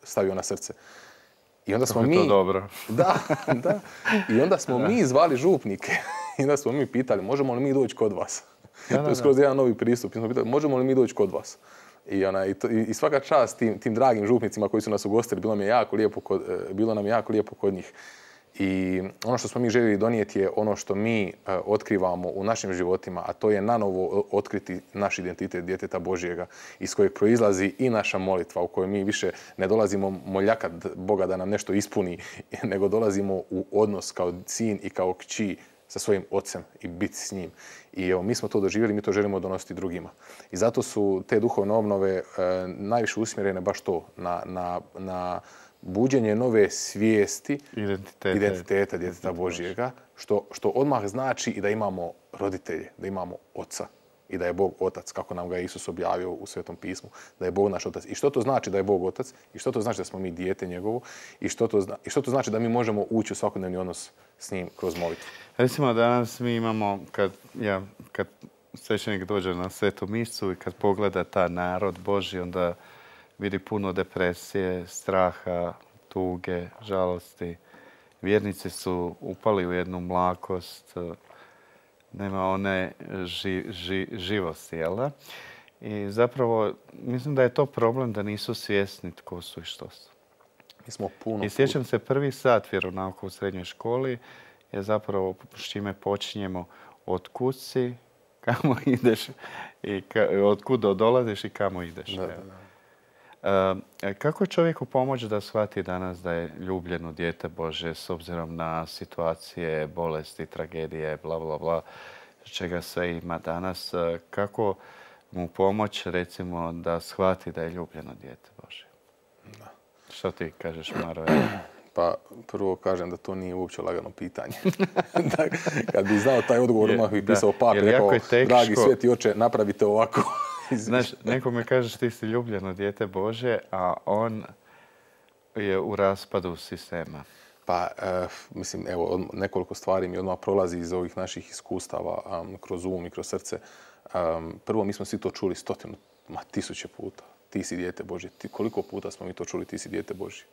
stavio na srce. I onda smo to dobro. Da. I onda smo mi zvali župnike. I onda smo mi pitali, možemo li mi doći kod vas? To je skroz jedan novi pristup. Smo pitali, možemo li mi doći kod vas? I svaka čast tim dragim župnicima koji su nas ugostili, bilo nam je jako lijepo kod njih. I ono što smo mi željeli donijeti je ono što mi otkrivamo u našim životima, a to je nanovo otkriti naš identitet djeteta Božjega, iz kojeg proizlazi i naša molitva, u kojoj mi više ne dolazimo moljakat Boga da nam nešto ispuni, nego dolazimo u odnos kao sin i kao kći sa svojim ocem i biti s njim. I evo, mi smo to doživjeli, mi to želimo donositi drugima. I zato su te duhovne obnove najviše usmjerene baš to, na buđenje nove svijesti identiteta djeteta Božjega, što odmah znači i da imamo roditelje, da imamo oca i da je Bog otac, kako nam ga je Isus objavio u Svetom pismu, da je Bog naš otac. I što to znači da je Bog otac? I što to znači da smo mi dijete njegovo? I što to znači da mi možemo ući u svakodnevni odnos s njim kroz molitvu? Recimo danas mi imamo, kad svećenik dođe na Svetu misu i kad pogleda ta narod Božji, onda vidi puno depresije, straha, tuge, žalosti. vjernici su upali u jednu mlakost, nema one živosti, jel da? I zapravo, mislim da je to problem da nisu svjesni tko su i što su. Mi smo puno... I sjećam se prvi sat vjeronauka u srednjoj školi je zapravo s čime počinjemo od kud si, kamo ideš, i od kud dolaziš i kamo ideš. Kako čovjeku pomoći da shvati danas da je ljubljeno dijete Božje s obzirom na situacije, bolesti, tragedije, bla, bla, bla, čega sve ima danas? Kako mu pomoći, recimo, da shvati da je ljubljeno dijete Božje? Da. Što ti kažeš, Maro? Pa prvo kažem da to nije uopće lagano pitanje. Kad bi znao taj odgovor, odmah bi pisao papi, rekao, dragi sveti oče, napravite ovako. Znaš, nekome kažeš ti si ljubljeno dijete Božje, a on je u raspadu sistema. Pa, mislim, evo, nekoliko stvari mi odmah prolazi iz ovih naših iskustava kroz um i kroz srce. Prvo, mi smo svi to čuli tisuće puta. Ti si dijete Božje. Koliko puta smo mi to čuli, ti si dijete Božje?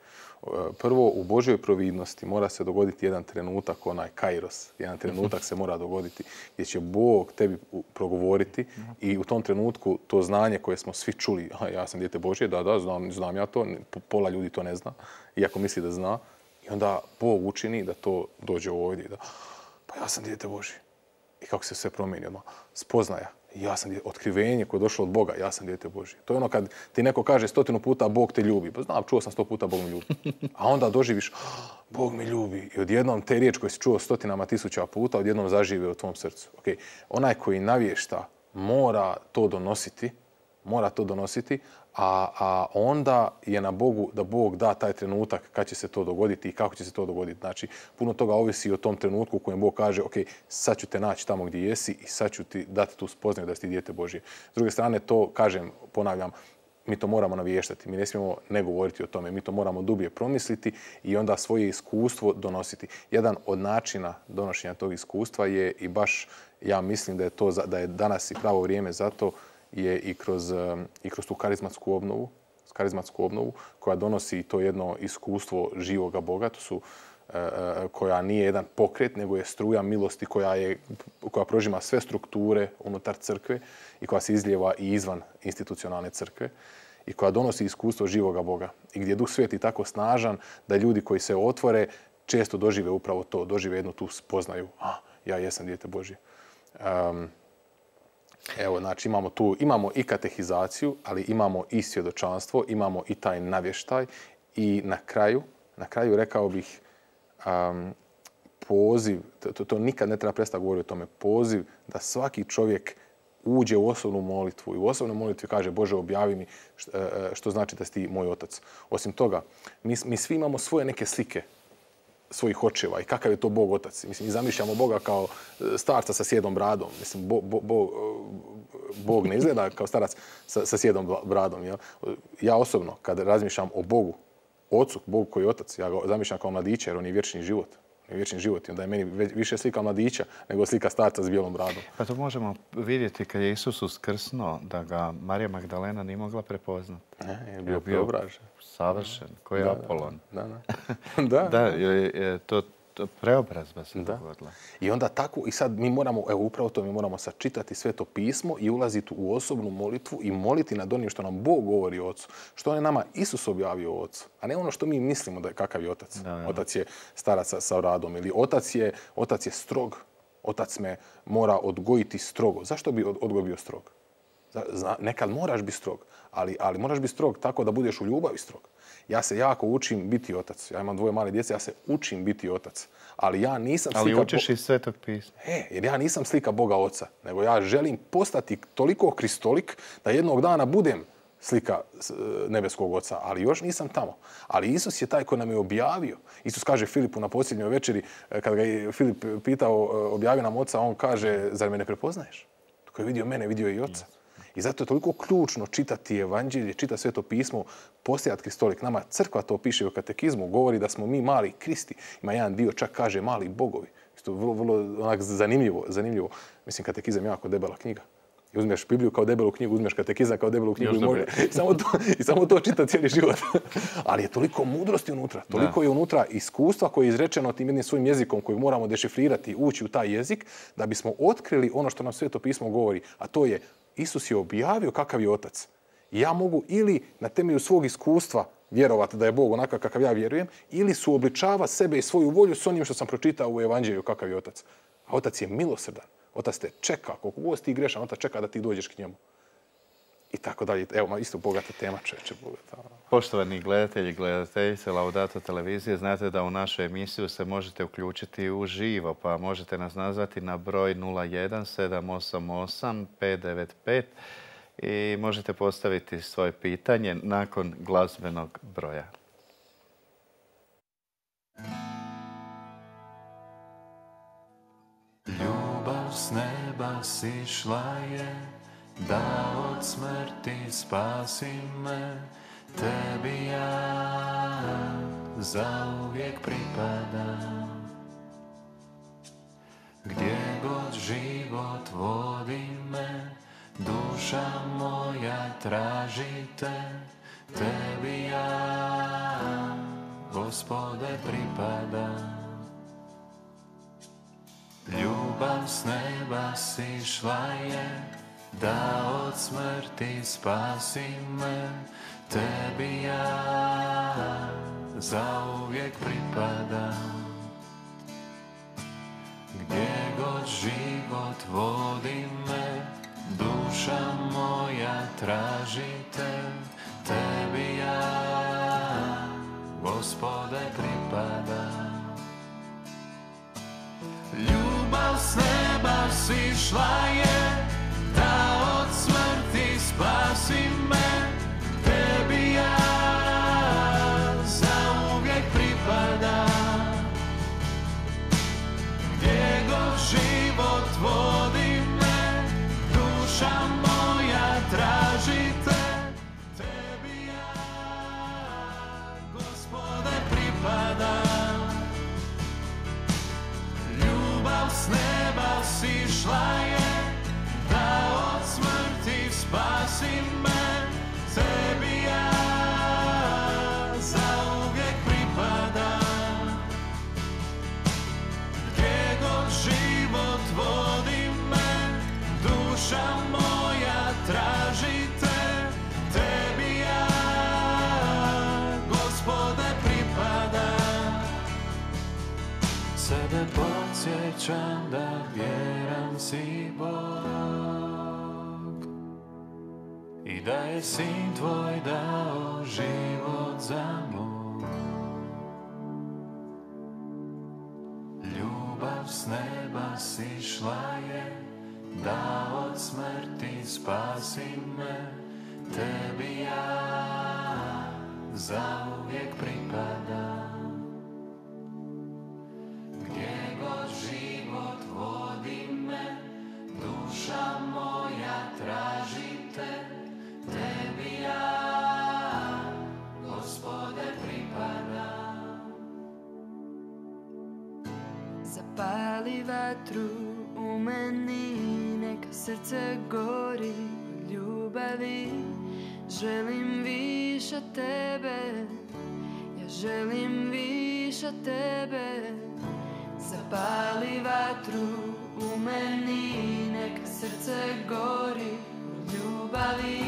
Prvo, u Božjoj providnosti mora se dogoditi jedan trenutak, onaj kairos. Jedan trenutak se mora dogoditi gdje će Bog tebi progovoriti i u tom trenutku to znanje koje smo svi čuli, ja sam dijete Božje, da, znam ja to, pola ljudi to ne zna, iako misli da zna. I onda Bog učini da to dođe ovdje. Pa ja sam dijete Božje. I kako se sve promijeni odmah. Spoznaja. Ja sam otkrivenje koje je došlo od Boga. Ja sam dijete Božje. To je ono kad ti neko kaže 100 puta Bog te ljubi. Pa znam, čuo sam 100 puta Bog me ljubi. A onda doživiš Bog me ljubi. I odjednom te riječ koje si čuo 100.000 puta odjednom zažive u tvom srcu. Okay. Onaj koji navješta mora to donositi, a onda je na Bogu da Bog da taj trenutak kad će se to dogoditi i kako će se to dogoditi. Znači, puno toga ovisi o tom trenutku u kojem Bog kaže, ok, sad ću te naći tamo gdje jesi i sad ću ti dati tu spoznaju da si ti dijete Božje. S druge strane, to, kažem, ponavljam, mi to moramo naviještati. Mi ne smijemo ne govoriti o tome. Mi to moramo dublje promisliti i onda svoje iskustvo donositi. Jedan od načina donošenja tog iskustva je i baš, ja mislim da je danas i pravo vrijeme za to, je i kroz tu karizmatsku obnovu koja donosi to jedno iskustvo živoga Boga, koja nije jedan pokret, nego je struja milosti koja prožima sve strukture unutar crkve i koja se izlijeva i izvan institucionalne crkve i koja donosi iskustvo živoga Boga. I gdje je Duh Sveti tako snažan da ljudi koji se otvore često dožive upravo to, dožive jednu tu spoznaju. Ja jesam dijete Božje. Evo, znači imamo i katehizaciju, ali imamo i svjedočanstvo, imamo i taj navještaj i na kraju rekao bih poziv, to nikad ne treba prestati govoriti o tome, poziv da svaki čovjek uđe u osobnu molitvu i u osobnoj molitvi kaže Bože objavi mi što znači da si ti moj otac. Osim toga, mi svi imamo svoje neke slike svojih očeva i kakav je to Bog otac. Mislim, mi zamišljamo Boga kao starca sa sjedom bradom. Mislim, Bog ne izgleda kao starac sa sjedom bradom. Jel? Ja osobno, kad razmišljam o Bogu, ocu, Bogu koji je otac, ja ga zamišljam kao mladića jer on je vječni život. I onda je meni više slika mladića nego slika starca s bijelom bradom. Pa to možemo vidjeti kad je Isus uskrsnuo da ga Marija Magdalena nije mogla prepoznati. Je bio preobražen. Savršen, koji je Apolon. Da. To preobrazba se dogodila. I onda tako, i sad mi moramo, upravo to, mi moramo sačitati Sveto pismo i ulaziti u osobnu molitvu i moliti nad onim što nam Bog govori o Ocu. Što je nama Isus objavio o Ocu, a ne ono što mi mislimo da je kakav je Otac. Otac je starac sa radom ili Otac je strog. Otac me mora odgojiti strogo. Zašto bi odgoj bio strog? Nekad moraš biti strog, ali moraš biti strog tako da budeš u ljubavi strog. Ja se jako učim biti otac. Ja imam 2 male djece, ja se učim biti otac. Ali ja nisam slika... Ali učiš iz Svetog pisma. Jer ja nisam slika Boga Oca, nego ja želim postati toliko kristolik da jednog dana budem slika nebeskog Oca, ali još nisam tamo. Ali Isus je taj koji nam je objavio. Isus kaže Filipu na posljednjoj večeri, kad ga je Filip pitao objavi nam Oca, on kaže, zar me ne prepoznaješ? Tko je vidio mene, vidio i Oca. I zato je toliko ključno čitati evanđelje, čitati Sveto pismo, postajati kristolik. Nama crkva to piše u katekizmu, govori da smo mi mali Kristi. Ima jedan dio čak kaže mali bogovi. Isto vrlo onak zanimljivo. Mislim, katekizam je jako debela knjiga. I uzmeš Bibliju kao debelu knjigu, uzmeš katekizam kao debelu knjigu i samo to čita cijeli život. Ali je toliko mudrosti unutra, toliko je unutra iskustva koje je izrečeno tim jednim svojim jezikom koji moramo dešifrirati, ući u taj jezik, da bismo otkrili ono što nam Sveto pismo govori, a to je Isus je objavio kakav je Otac. I ja mogu ili na temelju svog iskustva vjerovati da je Bog onakav kakav ja vjerujem, ili suobličava sebe i svoju volju s onim što sam pročitao u Evanđelju kakav je Otac. A Otac je milosrdan. Otac te čeka, koliko god ti grešan, Otac čeka da ti dođeš k njemu. I tako dalje. Evo, isto bogata tema, čeče bogata. Poštovani gledatelji i gledateljice Laudato televizije, znate da u našu emisiju se možete uključiti uživo, pa možete nas nazvati na broj 01 788 595 i možete postaviti svoje pitanje nakon glazbenog broja. Ljubav s neba sišla je, da od smrti spasi me, tebi ja zauvijek pripadam. Gdje god život vodi me, duša moja traži te, tebi ja, Gospode, pripadam. Ljubav s neba sišla je, da od smrti spasi me, tebi ja zauvijek pripadam. Gdje god život vodi me, duša moja traži te, tebi ja, Gospode, pripadam. Ljubav s neba sišla je, da od smrti spasi me, tebi ja zauvijek pripadam. Gdje god život vodi me, duša moja traži te, tebi ja, Gospode, pripadam. Ljubav s neba sišla je, da od smrti spasi me, tebi ja zauvijek pripadam. Gdje god život vodi me, duša moja traži te, tebi ja, Gospode, pripadam. Sebe podsjećam da vjeran si Bog i da je Sin tvoj dao život za moj. Ljubav s neba sišla je, da od smrti spasi me, tebi ja zauvijek pripadam. Gdje god život vodi me, duša moja traži te, tebi ja, Gospode, pripadam. Zapali vatru u meni, neka srce gori od ljubavi. Želim više tebe, ja želim više tebe. Zapali vatru u meni, neka srce gori od ljubavi.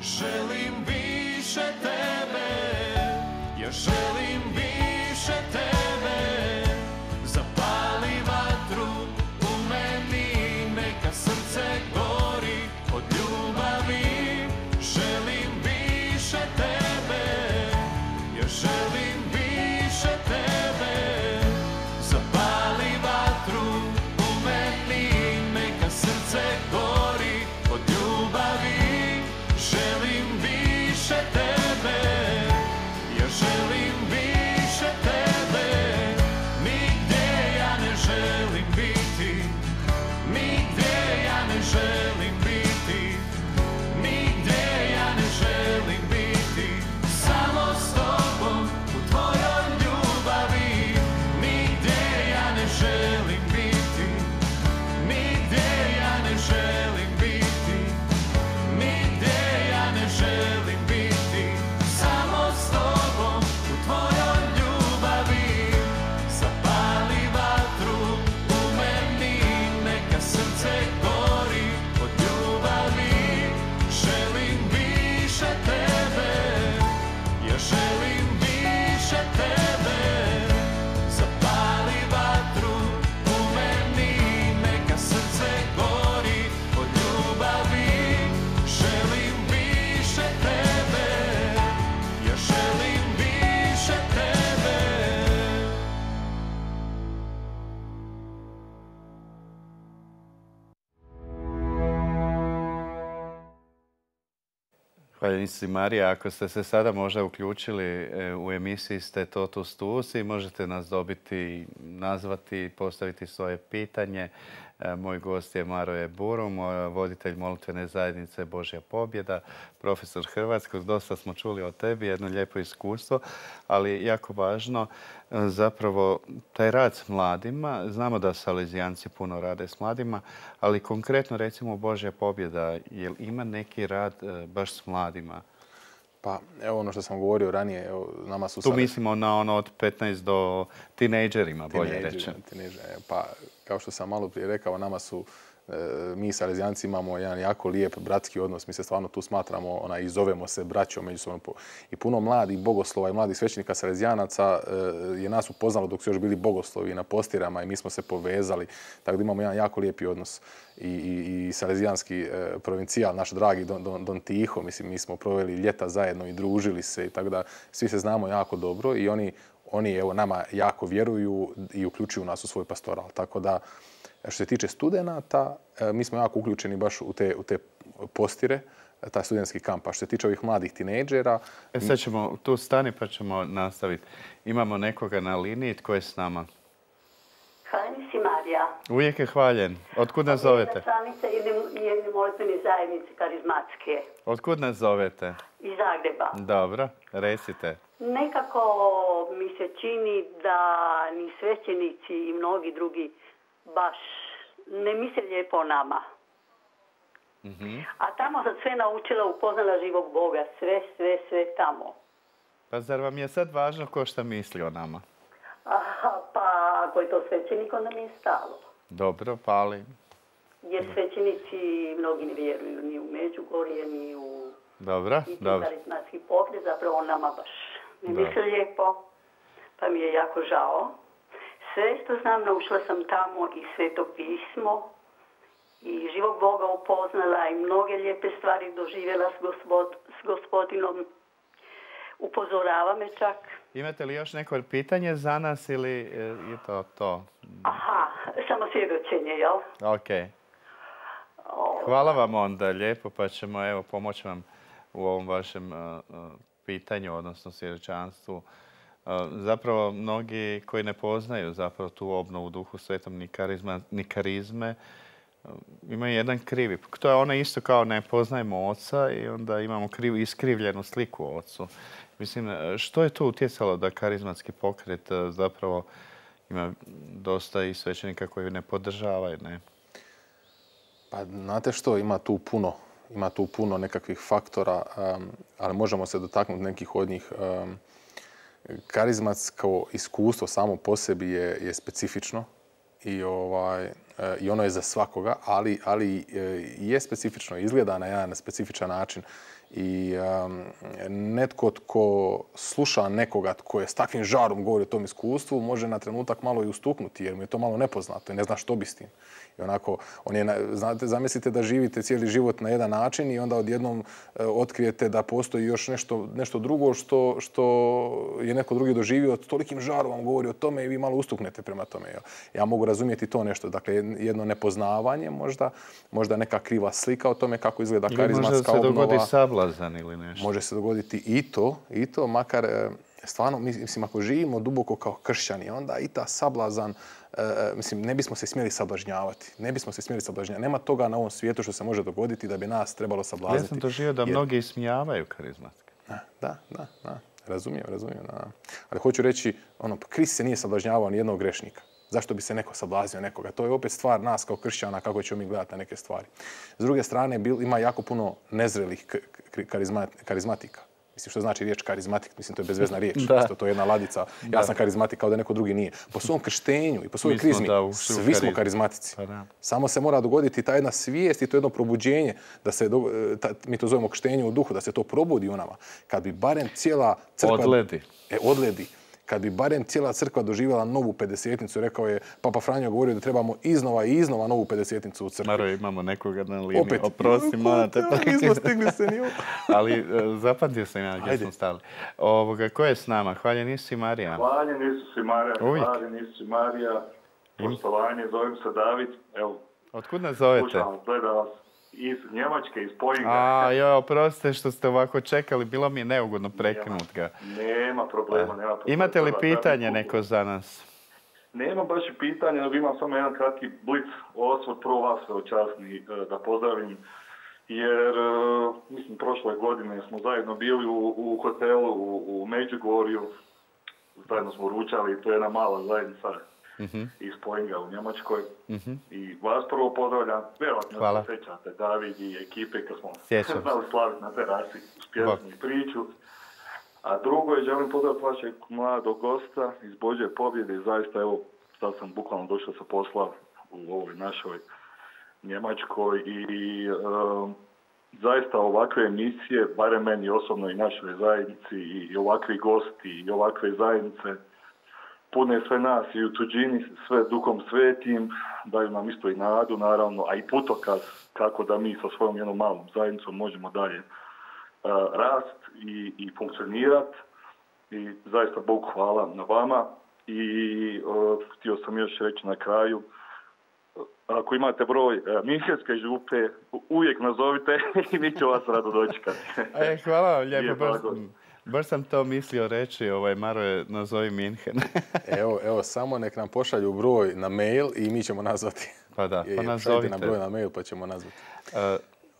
Želim više tebe, ja želim više tebe. Zapali vatru u meni, neka srce gori od ljubavi. Želim više tebe, ja želim više tebe. Zapali vatru u meni, neka srce gori od ljubavi. Želim više tebe, Hvala si Marija, ako ste se sada možda uključili u emisiji ste Totus Tuus i možete nas dobiti, nazvati, postaviti svoje pitanje. Moj gost je Maroje Burum, voditelj molitvene zajednice Božja pobjeda, profesor hrvatskog. Dosta smo čuli o tebi, jedno lijepo iskustvo, ali jako važno zapravo taj rad s mladima. Znamo da salezijanci puno rade s mladima, ali konkretno recimo Božja pobjeda, jel ima neki rad baš s mladima? Pa evo ono što sam govorio ranije, nama su... Tu mislimo na ono od 15 do tinejdžerima, bolje rečeno. Pa kao što sam malo prije rekao, nama su, mi Salezijanci imamo jedan jako lijep bratski odnos. Mi se stvarno tu smatramo i zovemo se braćom međusobno. I puno mladih bogoslova i mladih svećenika Salezijanaca je nas upoznalo dok su još bili bogoslovi na postirama i mi smo se povezali. Tako da imamo jedan jako lijepi odnos. I Salezijanski provincijal, naš dragi Don Tiho, mislim, mi smo proveli ljeta zajedno i družili se i tako da svi se znamo jako dobro i oni evo, nama jako vjeruju i uključuju nas u svoj pastoral. Tako da, što se tiče studenata, mi smo jako uključeni baš u te postire, taj studentski kamp. A što se tiče ovih mladih tinejdžera... Sad ćemo tu stani pa ćemo nastaviti. Imamo nekoga na liniji, tko je s nama? Hvaljen si Marija. Uvijek je hvaljen. Otkud nas zovete? Članica jedne molitvene zajednice karizmatske. Otkud nas zovete? Iz Zagreba. Dobro, recite. Nekako mi se čini da ni svećenici i mnogi drugi baš ne misle lijepo o nama. A tamo sam sve naučila, upoznala živog Boga. Sve tamo. Pa zar vam je sad važno ko šta misli o nama? Pa ako je to svećenik, onda mi je stalo. Dobro, pali. Jer svećenici mnogi ne vjeruju ni u Međugorje, ni u... Dobro. Karizmatski pokret, zapravo on nama baš ne misle lijepo, pa mi je jako žao. Sve što znam, naučila sam tamo i Sveto pismo i živog Boga upoznala i mnoge lijepe stvari doživjela s Gospodinom. Upozorava me čak. Imate li još neko pitanje za nas ili je to? Aha, samo svjedočenje, jel? Ok. Hvala vam onda lijepo, pa ćemo evo pomoći vam u ovom vašem pitanju, odnosno svjedočanstvu. Zapravo, mnogi koji ne poznaju zapravo tu obnovu Duhu Svetom ni karizme, imaju jedan krivi. To je ono isto kao ne poznajemo Oca i onda imamo iskrivljenu sliku o Ocu. Mislim, što je tu utjecalo da karizmatski pokret zapravo ima dosta i svećenika koji ne podržavaju, ne? Pa znate što, ima tu puno nekakvih faktora, ali možemo se dotaknuti nekih od njih. Karizmatsko iskustvo samo po sebi je specifično i ono je za svakoga, ali je specifično, izgleda na jedan specifičan način. I netko tko sluša nekoga tko je s takvim žarom govori o tom iskustvu, može na trenutak malo i ustuknuti jer mu je to malo nepoznato i ne zna što bi s tim. I onako, znate, zamislite da živite cijeli život na jedan način i onda odjednom otkrijete da postoji još nešto drugo što je neko drugi doživio, tolikim žarom vam govori o tome i vi malo ustuknete prema tome. Ja mogu razumjeti to nešto. Dakle, jedno nepoznavanje možda neka kriva slika o tome kako izgleda karizmatska obnova. Može se dogodi sablazan ili nešto. Može se dogoditi i to, makar stvarno, mislim, ako živimo duboko kao kršćani, onda i ta sablazan, mislim, ne bismo se smjeli sablažnjavati. Nema toga na ovom svijetu što se može dogoditi da bi nas trebalo sablazniti. Ja sam doživio da mnogi ismijavaju karizmatske. Da. Razumijem. Da. Ali hoću reći, Krist se nije sablažnjavao ni jednog grešnika. Zašto bi se neko sablaznio nekoga? To je opet stvar nas kao kršćana, kako ćemo mi gledati na neke stvari. S druge strane, ima jako puno nezrelih karizmatika. Mislim, što znači riječ karizmatik? Mislim, to je bezvezna riječ. To je jedna ladica. Ja sam karizmatik kao da neko drugi nije. Po svom krštenju i po svojoj krizmi, svi smo karizmatici. Samo se mora dogoditi ta jedna svijest i to jedno probuđenje, da se, mi to zovemo krštenje u duhu, da se to probudi u nama. Kad bi barem cijela crkva... Odledi. Kad bi barem cijela crkva doživjela novu pedesetnicu, rekao je Papa Franjo govorio da trebamo iznova novu pedesetnicu u crkvi. Maro, imamo nekoga na liniji. Opet. Oprosti, morate. Nismo stigli se ni ovo. Ali zapamtio sam ja gdje smo stali. Ko je s nama? Hvaljen Isus i Marija. Hvaljen Isus i Marija. Hvaljen Isus i Marija. Poštovanje, zovem se David. Evo. Otkud nas zovete? Slušam, gledam vas. iz Njemačke, iz Poinga. Oprostite što ste ovako čekali, bilo mi je neugodno prekinut ga. Nema problema. Imate li pitanje neko za nas? Nema baš pitanje, nego imam samo jedan kratki blic osvrt, prvo vas časni da pozdravim, jer mislim prošle godine smo zajedno bili u hotelu u Međugorju, zajedno smo ručali, to je jedna mala zajednica iz Poinga u Njemačkoj. I vas prvo pozdravljam, vjerojatno se sjećate David i ekipe kad smo znali slaviti na terasi uz pjesmu i priču. A drugo je, želim pozdraviti vašeg mladog gosta iz Božje pobjede. Zaista, evo, sad sam bukvalno došao sa posla u ovoj našoj Njemačkoj i zaista ovakve emisije, barem meni osobno i našoj zajednici i ovakvi gosti i ovakve zajednice pune sve nas i u tuđini sve Duhom Svetim, daju nam isto i nadu naravno, a i putokaz kako da mi sa svojom jednom malom zajednicom možemo dalje rast i funkcionirati. I zaista Bogu hvala na vama. I htio sam još reći na kraju, ako imate broj Minhenske župe, uvijek nazovite i mi ću vas rado dočekati. Hvala vam lijepo. Baš sam to mislio reći, Maroje, nazovi Minhen. Evo, samo nek nam pošalju broj na mail i mi ćemo nazvati. Pa da, pa nazovite. Šaljite nam broj na mail pa ćemo nazvati.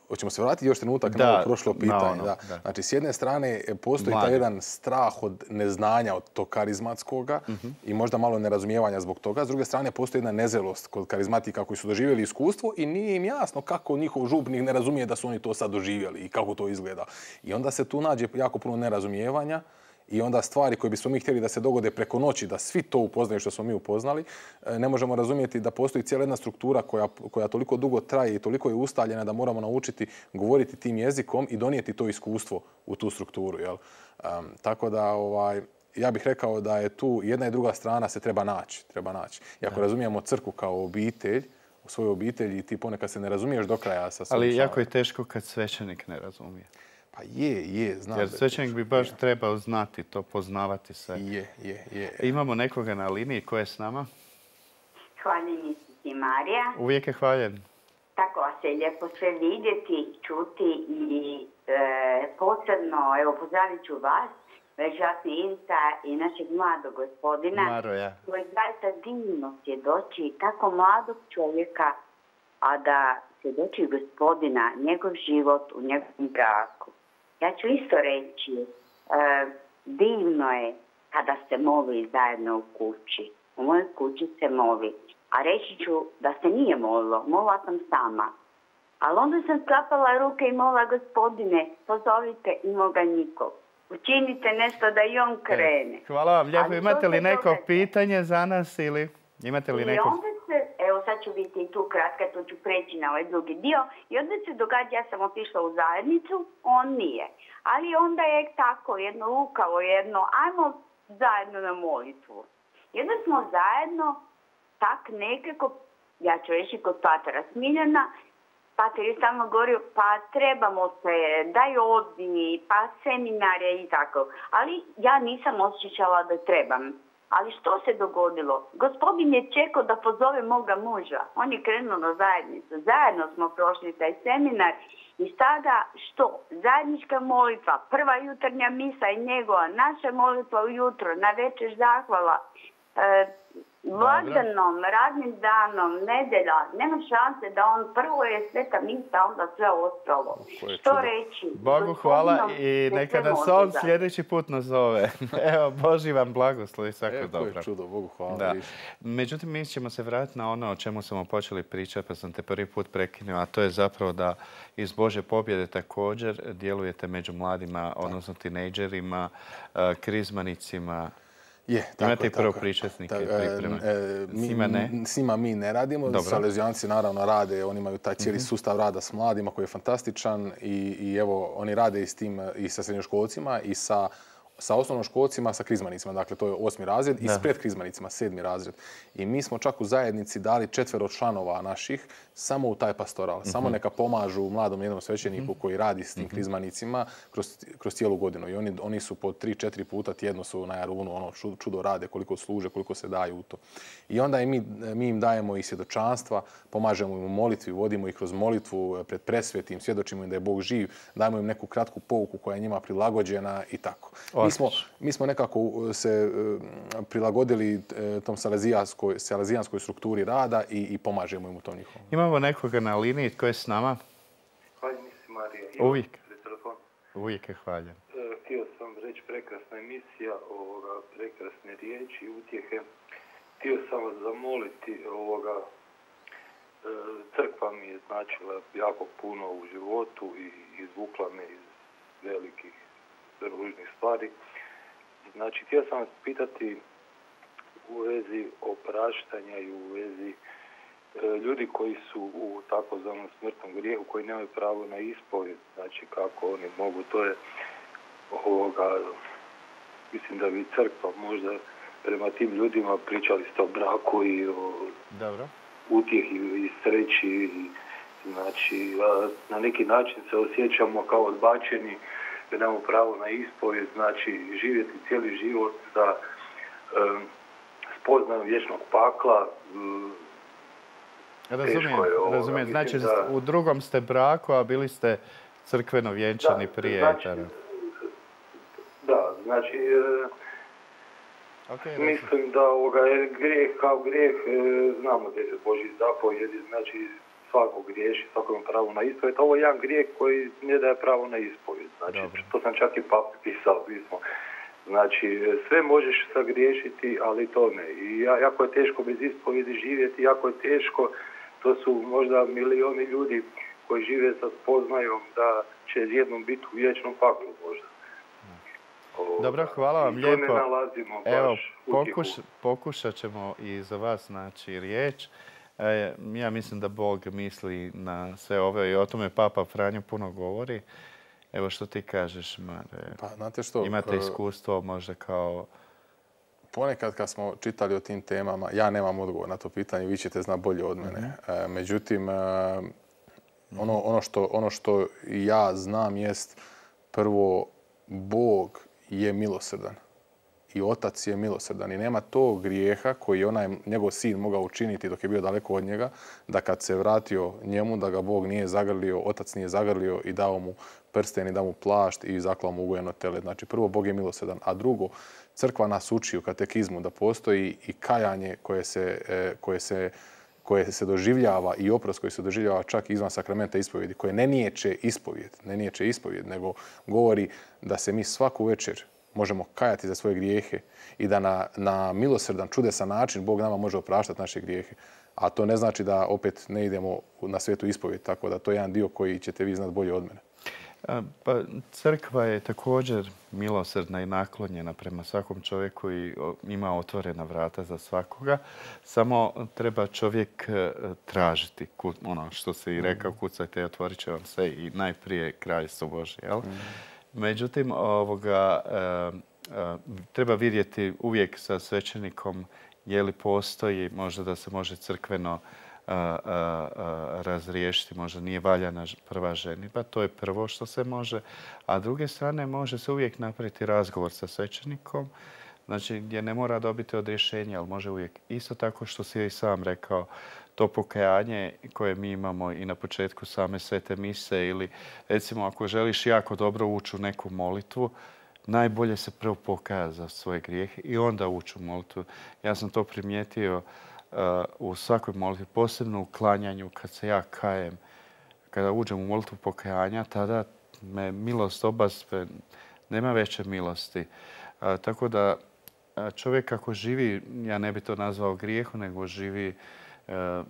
Hoćemo se vratiti još trenutak na ovo prošlo pitanje. Znači, s jedne strane postoji taj jedan strah od neznanja, od tog karizmatskoga i možda malo nerazumijevanja zbog toga. S druge strane, postoji jedna nezelost kod karizmatika koji su doživjeli iskustvo i nije im jasno kako njihov župnik ne razumije da su oni to sad doživjeli i kako to izgleda. I onda se tu nađe jako puno nerazumijevanja i onda stvari koje bismo mi htjeli da se dogode preko noći, da svi to upoznaju što smo mi upoznali, ne možemo razumjeti da postoji cijela jedna struktura koja toliko dugo traje i toliko je ustaljena da moramo naučiti govoriti tim jezikom i donijeti to iskustvo u tu strukturu. Tako da ja bih rekao da je tu jedna i druga strana se treba naći. I ako razumijemo crkvu kao obitelj, u svojoj obitelji, ti ponekad se ne razumiješ do kraja sa svojim. Ali jako je teško kad svećenik ne razumije. Pa je, znam. Jer svećenik bi baš trebao znati to, poznavati se. Je. Imamo nekoga na liniji, ko je s nama? Hvaljen si Marija. Uvijek je hvaljen. Tako vas je lijepo sve vidjeti, čuti i posebno, evo, pozdravit ću vas, časni Inca i našeg mladog gospodina. Maroja. Koji zaista divno svjedoči tako mladog čovjeka, a da svjedoči gospodina, njegov život u njegovom braku. Ja ću isto reći, divno je kada se moli zajedno u kući. U mojoj kući se moli. A reći ću da se nije molilo, molila sam sama. Ali onda sam sklapala ruke i molila, gospodine, pozovite i moga nikog. Učinite nešto da i on krene. Hvala vam lijepo. Imate li neko pitanje za nas ili imate li neko? Evo sad ću biti tu kratka, to ću preći na ovaj drugi dio. I onda se događa, ja sam otišla u zajednicu, on nije. Ali onda je tako jedno lukavo, ajmo zajedno na molitvu. I onda smo zajedno tak nekako, ja ću reći kod patera Smiljana, pater je stalno govorio, pa trebamo se, daj odi, pa seminarije i tako. Ali ja nisam osjećala da trebam. Ali što se dogodilo? Gospodin je čekao da pozove moga muža. On je krenuo na zajednicu. Zajedno smo prošli taj seminar i sada što? Zajednička molitva, prva jutarnja misa i njegova, naša molitva ujutro, na večer zahvala, blagdanom, radnim danom, nedelja, nema šanse da on prvo je sveta misa, onda sve ostalo. Što reći? Bogu hvala i neka nas on sljedeći put nazove. Evo, Boži vam blagoslov, svako dobro. To je čudo, Bogu hvala. Da. Međutim, mi ćemo se vratiti na ono o čemu smo počeli pričati, pa sam te prvi put prekinuo, a to je zapravo da iz Božje pobjede također djelujete među mladima, odnosno tinejdžerima, krizmanicima. Imate i prvo pričasnike pripreme? S njima mi ne radimo. Salezijanci naravno rade, oni imaju taj cijeli sustav rada s mladima koji je fantastičan i evo, oni rade i sa srednjoškolcima i sa sa osnovnoškolcima, sa krizmanicima. Dakle, to je 8. razred i s predkrizmanicima 7. razred. I mi smo čak u zajednici dali 4 članova naših samo u taj pastoral. Samo neka pomažu mladom jednom svećeniku koji radi s tim krizmanicima kroz cijelu godinu. I oni su po 3-4 puta tjedno su na Jarunu, ono čudo rade, koliko služe, koliko se daju u to. I onda mi im dajemo i svjedočanstva, pomažemo im u molitvi, vodimo ih kroz molitvu pred presvetim, svjedočimo im da je Bog živ, dajemo im neku kratku pouku koja je njima prilagođena i tako. Mi smo nekako se prilagodili tom salezijanskoj strukturi rada i pomažemo im u tom njihovom. Imamo nekoga na liniji tko je s nama? Hvala mi se, Marija. Uvijek. Uvijek je hvaljen. Htio sam reći prekrasna emisija, prekrasne riječi i utjehe. Htio sam vas zamoliti, crkva mi je značila jako puno u životu i izvukla me iz velikih ružnih stvari. Znači, htio sam vas pitati u vezi opraštanja i u vezi ljudi koji su u takozvanom smrtnom grijehu, koji nemaju pravo na ispovjed, znači kako oni mogu, to je mislim da bi crkva možda prema tim ljudima pričali ste o braku i o utjehi i sreći, znači na neki način se osjećamo kao odbačeni, da nemamo pravo na ispovjed, znači živjeti cijeli život sa spoznajom vječnog pakla. Razumijem. Znači, u drugom ste braku, a bili ste crkveno vjenčani prije. Znači, znači, mislim da je grijeh kao grijeh, znamo da je Božji zapovjedi, znači svako griješi, svako ima pravo na ispovjed. Ovo je jedan grijeh koji ne daje pravo na ispovjed. Znači, to sam čak i papi pisao pismo. Znači, sve možeš sagriješiti, ali to ne. I jako je teško bez ispovjedi živjeti, jako je teško. To su možda milioni ljudi koji žive sa spoznajom da će jednom biti u vječnom paklu možda. Dobro, hvala vam lijepo. I to ne nalazimo baš pokušat ćemo i za vas naći riječ. Ja mislim da Bog misli na sve ove i o tome Papa Franjo puno govori. Evo što ti kažeš, Mare? Pa, znate što, imate iskustvo možda kao... Ponekad kad smo čitali o tim temama, ja nemam odgovor na to pitanje, vi ćete znati bolje od mene. Međutim, ono što ja znam jest prvo, Bog je milosrdan i Otac je milosrdan i nema tog grijeha koji je njegov sin mogao učiniti dok je bio daleko od njega, da kad se vratio njemu, da ga Bog nije zagrlio, Otac nije zagrlio i dao mu prsten i dao mu plašt i zaklao mu ugojeno tele. Znači, prvo, Bog je milosrdan, a drugo, crkva nas uči u katekizmu da postoji i kajanje koje se doživljava i oprost koji se doživljava čak izvan sakramenta ispovjedi, koje ne niječe ispovjed, nego govori da se mi svaku večer možemo kajati za svoje grijehe i da na milosrdan, čudesan način Bog nama može opraštati naše grijehe. A to ne znači da opet ne idemo na svetu ispovjed, tako da to je jedan dio koji ćete vi znati bolje od mene. Pa, crkva je također milosrdna i naklonjena prema svakom čovjeku i ima otvorena vrata za svakoga. Samo treba čovjek tražiti, ono što se i rekao, kucajte i otvorit će vam se i najprije Kraljestvo Božje. Jel? Međutim, treba vidjeti uvijek sa svećenikom je li postoji možda da se može crkveno razriješiti, možda nije valjana prva ženidba, to je prvo što se može, a s druge strane može se uvijek napraviti razgovor sa svećenikom, znači gdje ne mora dobiti odrješenje, ali može uvijek isto tako što si i sam rekao, to pokajanje koje mi imamo i na početku same svete mise ili recimo ako želiš jako dobro ući u neku molitvu, najbolje se prvo pokaja za svoje grijehe i onda ući u molitvu. Ja sam to primijetio u svakoj molitvi, posebno u klanjanju, kad se ja kajem, kada uđem u molitvu pokajanja, tada me milost obaspe, nema veće milosti. Tako da čovjek ako živi, ja ne bi to nazvao grijehu, nego živi,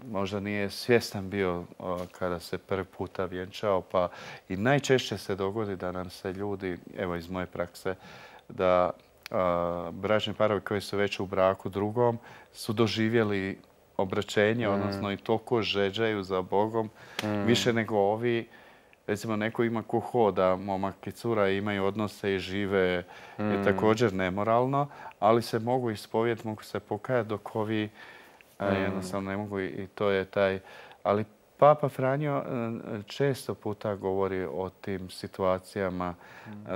možda nije svjestan bio kada se prvi puta vjenčao, pa i najčešće se dogodi da nam se ljudi, evo iz moje prakse, da bračni parovi koji su već u braku drugom su doživjeli obraćenje, odnosno i toliko žeđaju za Bogom, više nego ovi recimo neko ima ko hoda, momak i cura imaju odnose i žive je također nemoralno, ali se mogu ispovijeti, mogu se pokajati dok ovi jednostavno ne mogu i to je taj... Ali Papa Franjo često puta govori o tim situacijama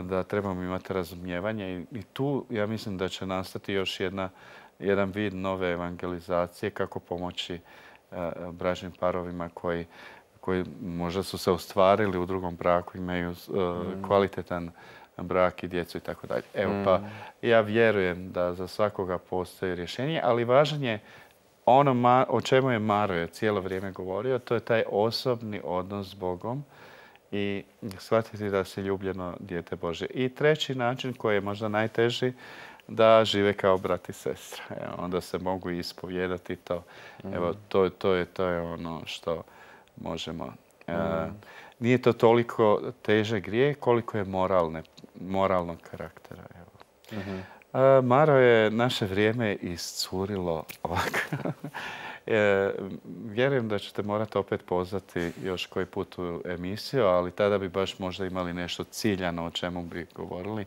da trebamo imati razumijevanje i tu ja mislim da će nastati još jedan vid nove evangelizacije kako pomoći bračnim parovima koji možda su se ostvarili u drugom braku, imaju kvalitetan brak i djecu i tako dalje. Evo pa ja vjerujem da za svakoga postoji rješenje, ali važan je ono o čemu je Maroje cijelo vrijeme govorio, to je taj osobni odnos s Bogom i shvatiti da si ljubljeno dijete Božje. I treći način koji je možda najteži, da žive kao brat i sestra. Onda se mogu ispovijedati to. Evo, to je ono što možemo. Nije to toliko teže grijeh koliko je moralnog karaktera. Evo. Maro je naše vrijeme iscurilo ovako. Vjerujem da ćete morati opet pozvati još koji put u emisiju, ali tada bi baš možda imali nešto ciljano o čemu bi govorili.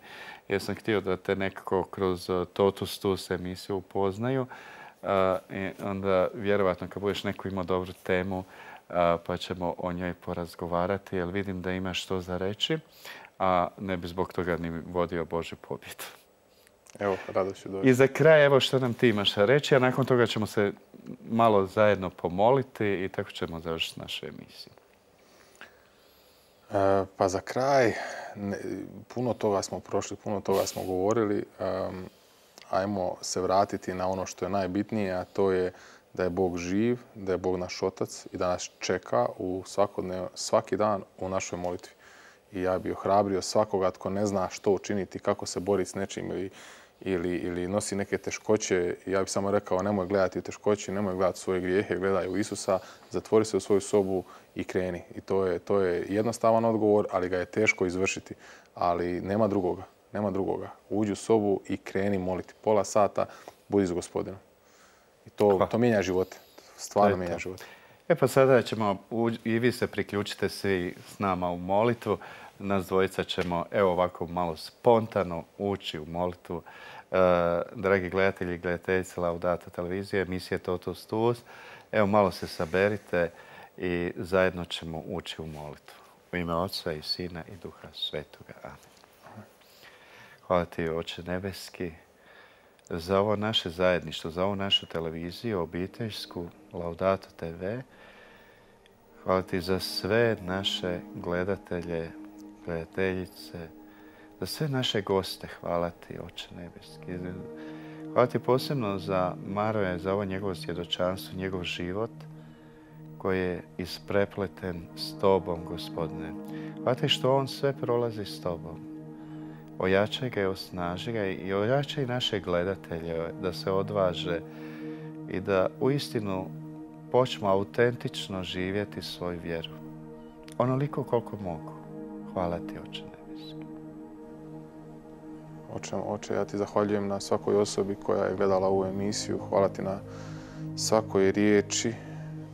Jer sam htio da te nekako kroz Totus Tus emisiju upoznaju. Onda vjerovatno kad budeš neko imao dobru temu pa ćemo o njoj porazgovarati jer vidim da imaš što za reći, a ne bi zbog toga ni vodio Božju pobjedu. Evo, rado ću doći. I za kraj, evo što nam ti imaš reći, a nakon toga ćemo se malo zajedno pomoliti i tako ćemo završiti našu emisiju. Pa za kraj, puno toga smo prošli, puno toga smo govorili. Ajmo se vratiti na ono što je najbitnije, a to je da je Bog živ, da je Bog naš Otac i da nas čeka svaki dan u našoj molitvi. I ja bih ohrabrio svakoga tko ne zna što učiniti, kako se boriti s nečim ili nosi neke teškoće. Ja bih samo rekao nemoj gledati u teškoći, nemoj gledati svoje grijehe, gledaj u Isusa, zatvori se u svoju sobu i kreni. I to je jednostavan odgovor, ali ga je teško izvršiti. Ali nema drugoga, nema drugoga. Uđi u sobu i kreni moliti. Pola sata budi s Gospodinom. I to mijenja živote. Stvarno mijenja živote. Pa sada ćemo, i vi se priključite svi s nama u molitvu. Nas dvojica ćemo, evo ovako malo spontano ući u molitvu. Dragi gledatelji i gledateljice Laudato televizije, emisije Totus Tus, evo malo se saberite i zajedno ćemo ući u molitvu. U ime Oca i Sina i Duha Svetoga. Amen. Hvala ti, Oče nebeski, za ovo naše zajedništvo, za ovu našu televiziju, obiteljsku, Laudato TV. Hvala ti za sve naše gledatelje, gledateljice, za sve naše goste. Hvala ti, Oče nebeski. Hvala ti posebno za Maroja, za ovo njegovo svjedočanstvo, njegov život koji je isprepleten s tobom, Gospodine. Hvala ti što on sve prolazi s tobom. Ojačaj ga i osnaži ga i ojačaj naše gledatelje da se odvaže i da uistinu počnu autentično živjeti svoju vjeru. Onoliko koliko mogu. Hvala ti, Oče nebeski. Oče, ja ti zahvaljujem na svakoj osobi koja je gledala ovu emisiju. Hvala ti na svakoj riječi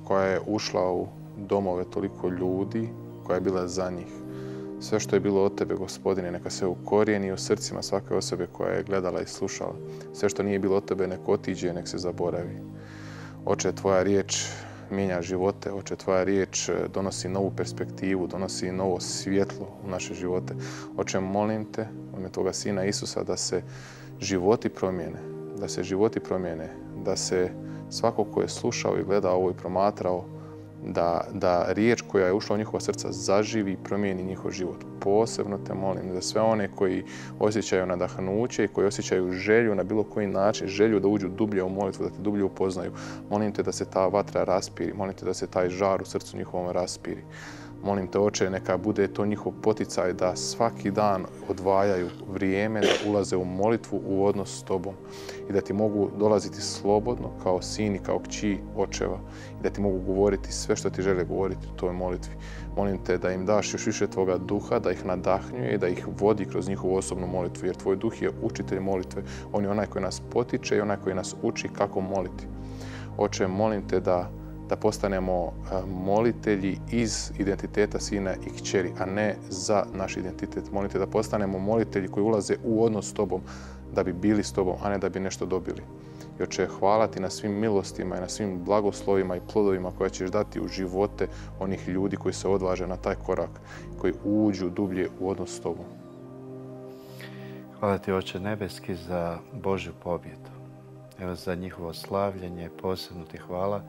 koja je ušla u domove toliko ljudi, koja je bila za njih. Sve što je bilo od tebe, Gospodine, neka se ukorijeni u srcima svake osobe koja je gledala i slušala. Sve što nije bilo od tebe, nek otiđe, nek se zaboravi. Oče, tvoja riječ mijenja živote. Oče, tvoja riječ donosi novu perspektivu, donosi novo svjetlo u naše živote. Oče, molim te, u ime tvoga Sina Isusa, da se životi promijene, da se svako ko je slušao i gledao ovo i promatrao, da riječ koja je ušla u njihova srca zaživi i promijeni njihov život. Posebno te molim za sve one koji osjećaju nadahnuće i koji osjećaju želju na bilo koji način, želju da uđu dublje u molitvu, da te dublje upoznaju. Molim te da se ta vatra raspiri, molim te da se taj žar u srcu njihovom raspiri. Molim te, Oče, neka bude to njihov poticaj da svaki dan odvajaju vrijeme, da ulaze u molitvu, u odnos s tobom i da ti mogu dolaziti slobodno kao sin i kao kći očeva i da ti mogu govoriti sve što ti žele govoriti u toj molitvi. Molim te da im daš još više tvoga duha, da ih nadahnjuje i da ih vodi kroz njihovu osobnu molitvu, jer tvoj duh je učitelj molitve. On je onaj koji nas potiče i onaj koji nas uči kako moliti. Oče, molim te da da postanemo molitelji iz identiteta sina i kćeri, a ne za naš identitet. Molite da postanemo molitelji koji ulaze u odnos s tobom da bi bili s tobom, a ne da bi nešto dobili. I Oče, hvala ti na svim milostima i na svim blagoslovima i plodovima koje ćeš dati u živote onih ljudi koji se odvaže na taj korak, koji uđu dublje u odnos s tobom. Hvala ti, Oče nebeski, za Božju pobjedu. Evo, za njihovo slavljenje posebno ti hvala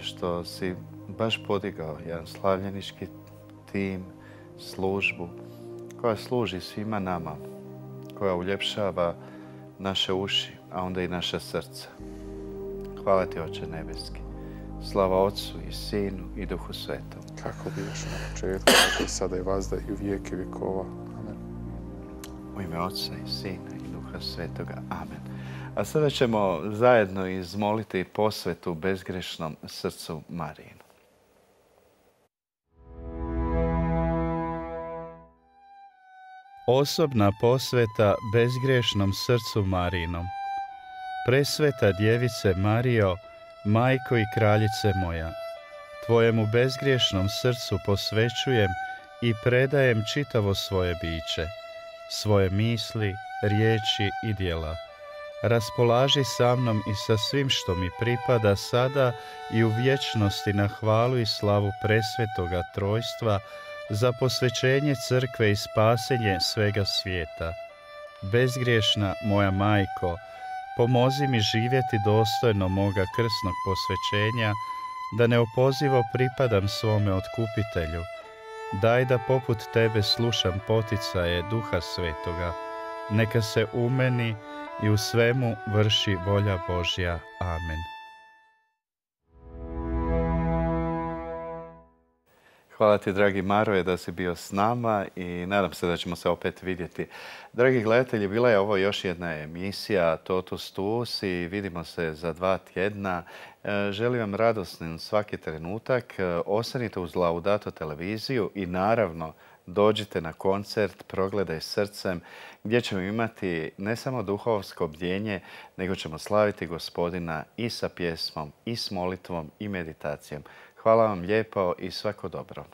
što si baš podigao jedan slavljenički tim, službu koja služi svima nama, koja uljepšava naše uši, a onda i naša srca. Hvala ti, Oče nebeski. Slava Otcu i Sinu i Duhu Svetom. Kako bijaš na početku, tako i sada i vazda i u vijeke vjekova. Amen. U ime Otca i Sina i Duha Svetoga. Amen. A sada ćemo zajedno izmoliti posvetu bezgrešnom srcu Marijinu. Osobna posveta bezgrešnom srcu Marijinom. Presveta djevice Marijo, majko i kraljice moja, tvojemu bezgriješnom srcu posvećujem i predajem čitavo svoje biće, svoje misli, riječi i djela. Raspolaži sa mnom i sa svim što mi pripada sada i u vječnosti na hvalu i slavu presvetoga trojstva, za posvećenje crkve i spasenje svega svijeta. Bezgriješna moja majko, pomozi mi živjeti dostojno moga krsnog posvećenja, da neopozivo pripadam svome otkupitelju. Daj da poput tebe slušam poticaje Duha Svetoga. Neka se u meni i u svemu vrši volja Božja. Amen. Hvala ti, dragi Maroje, da si bio s nama i nadam se da ćemo se opet vidjeti. Dragi gledatelji, bila je ovo još jedna emisija Totus Tuus i vidimo se za 2 tjedna. Želim vam radosni svaki trenutak. Ostanite uz Laudato televiziju i naravno dođite na koncert Progledaj srcem, gdje ćemo imati ne samo duhovsko bdjenje, nego ćemo slaviti Gospodina i sa pjesmom, i s molitvom, i meditacijom. Hvala vam lijepo i svako dobro.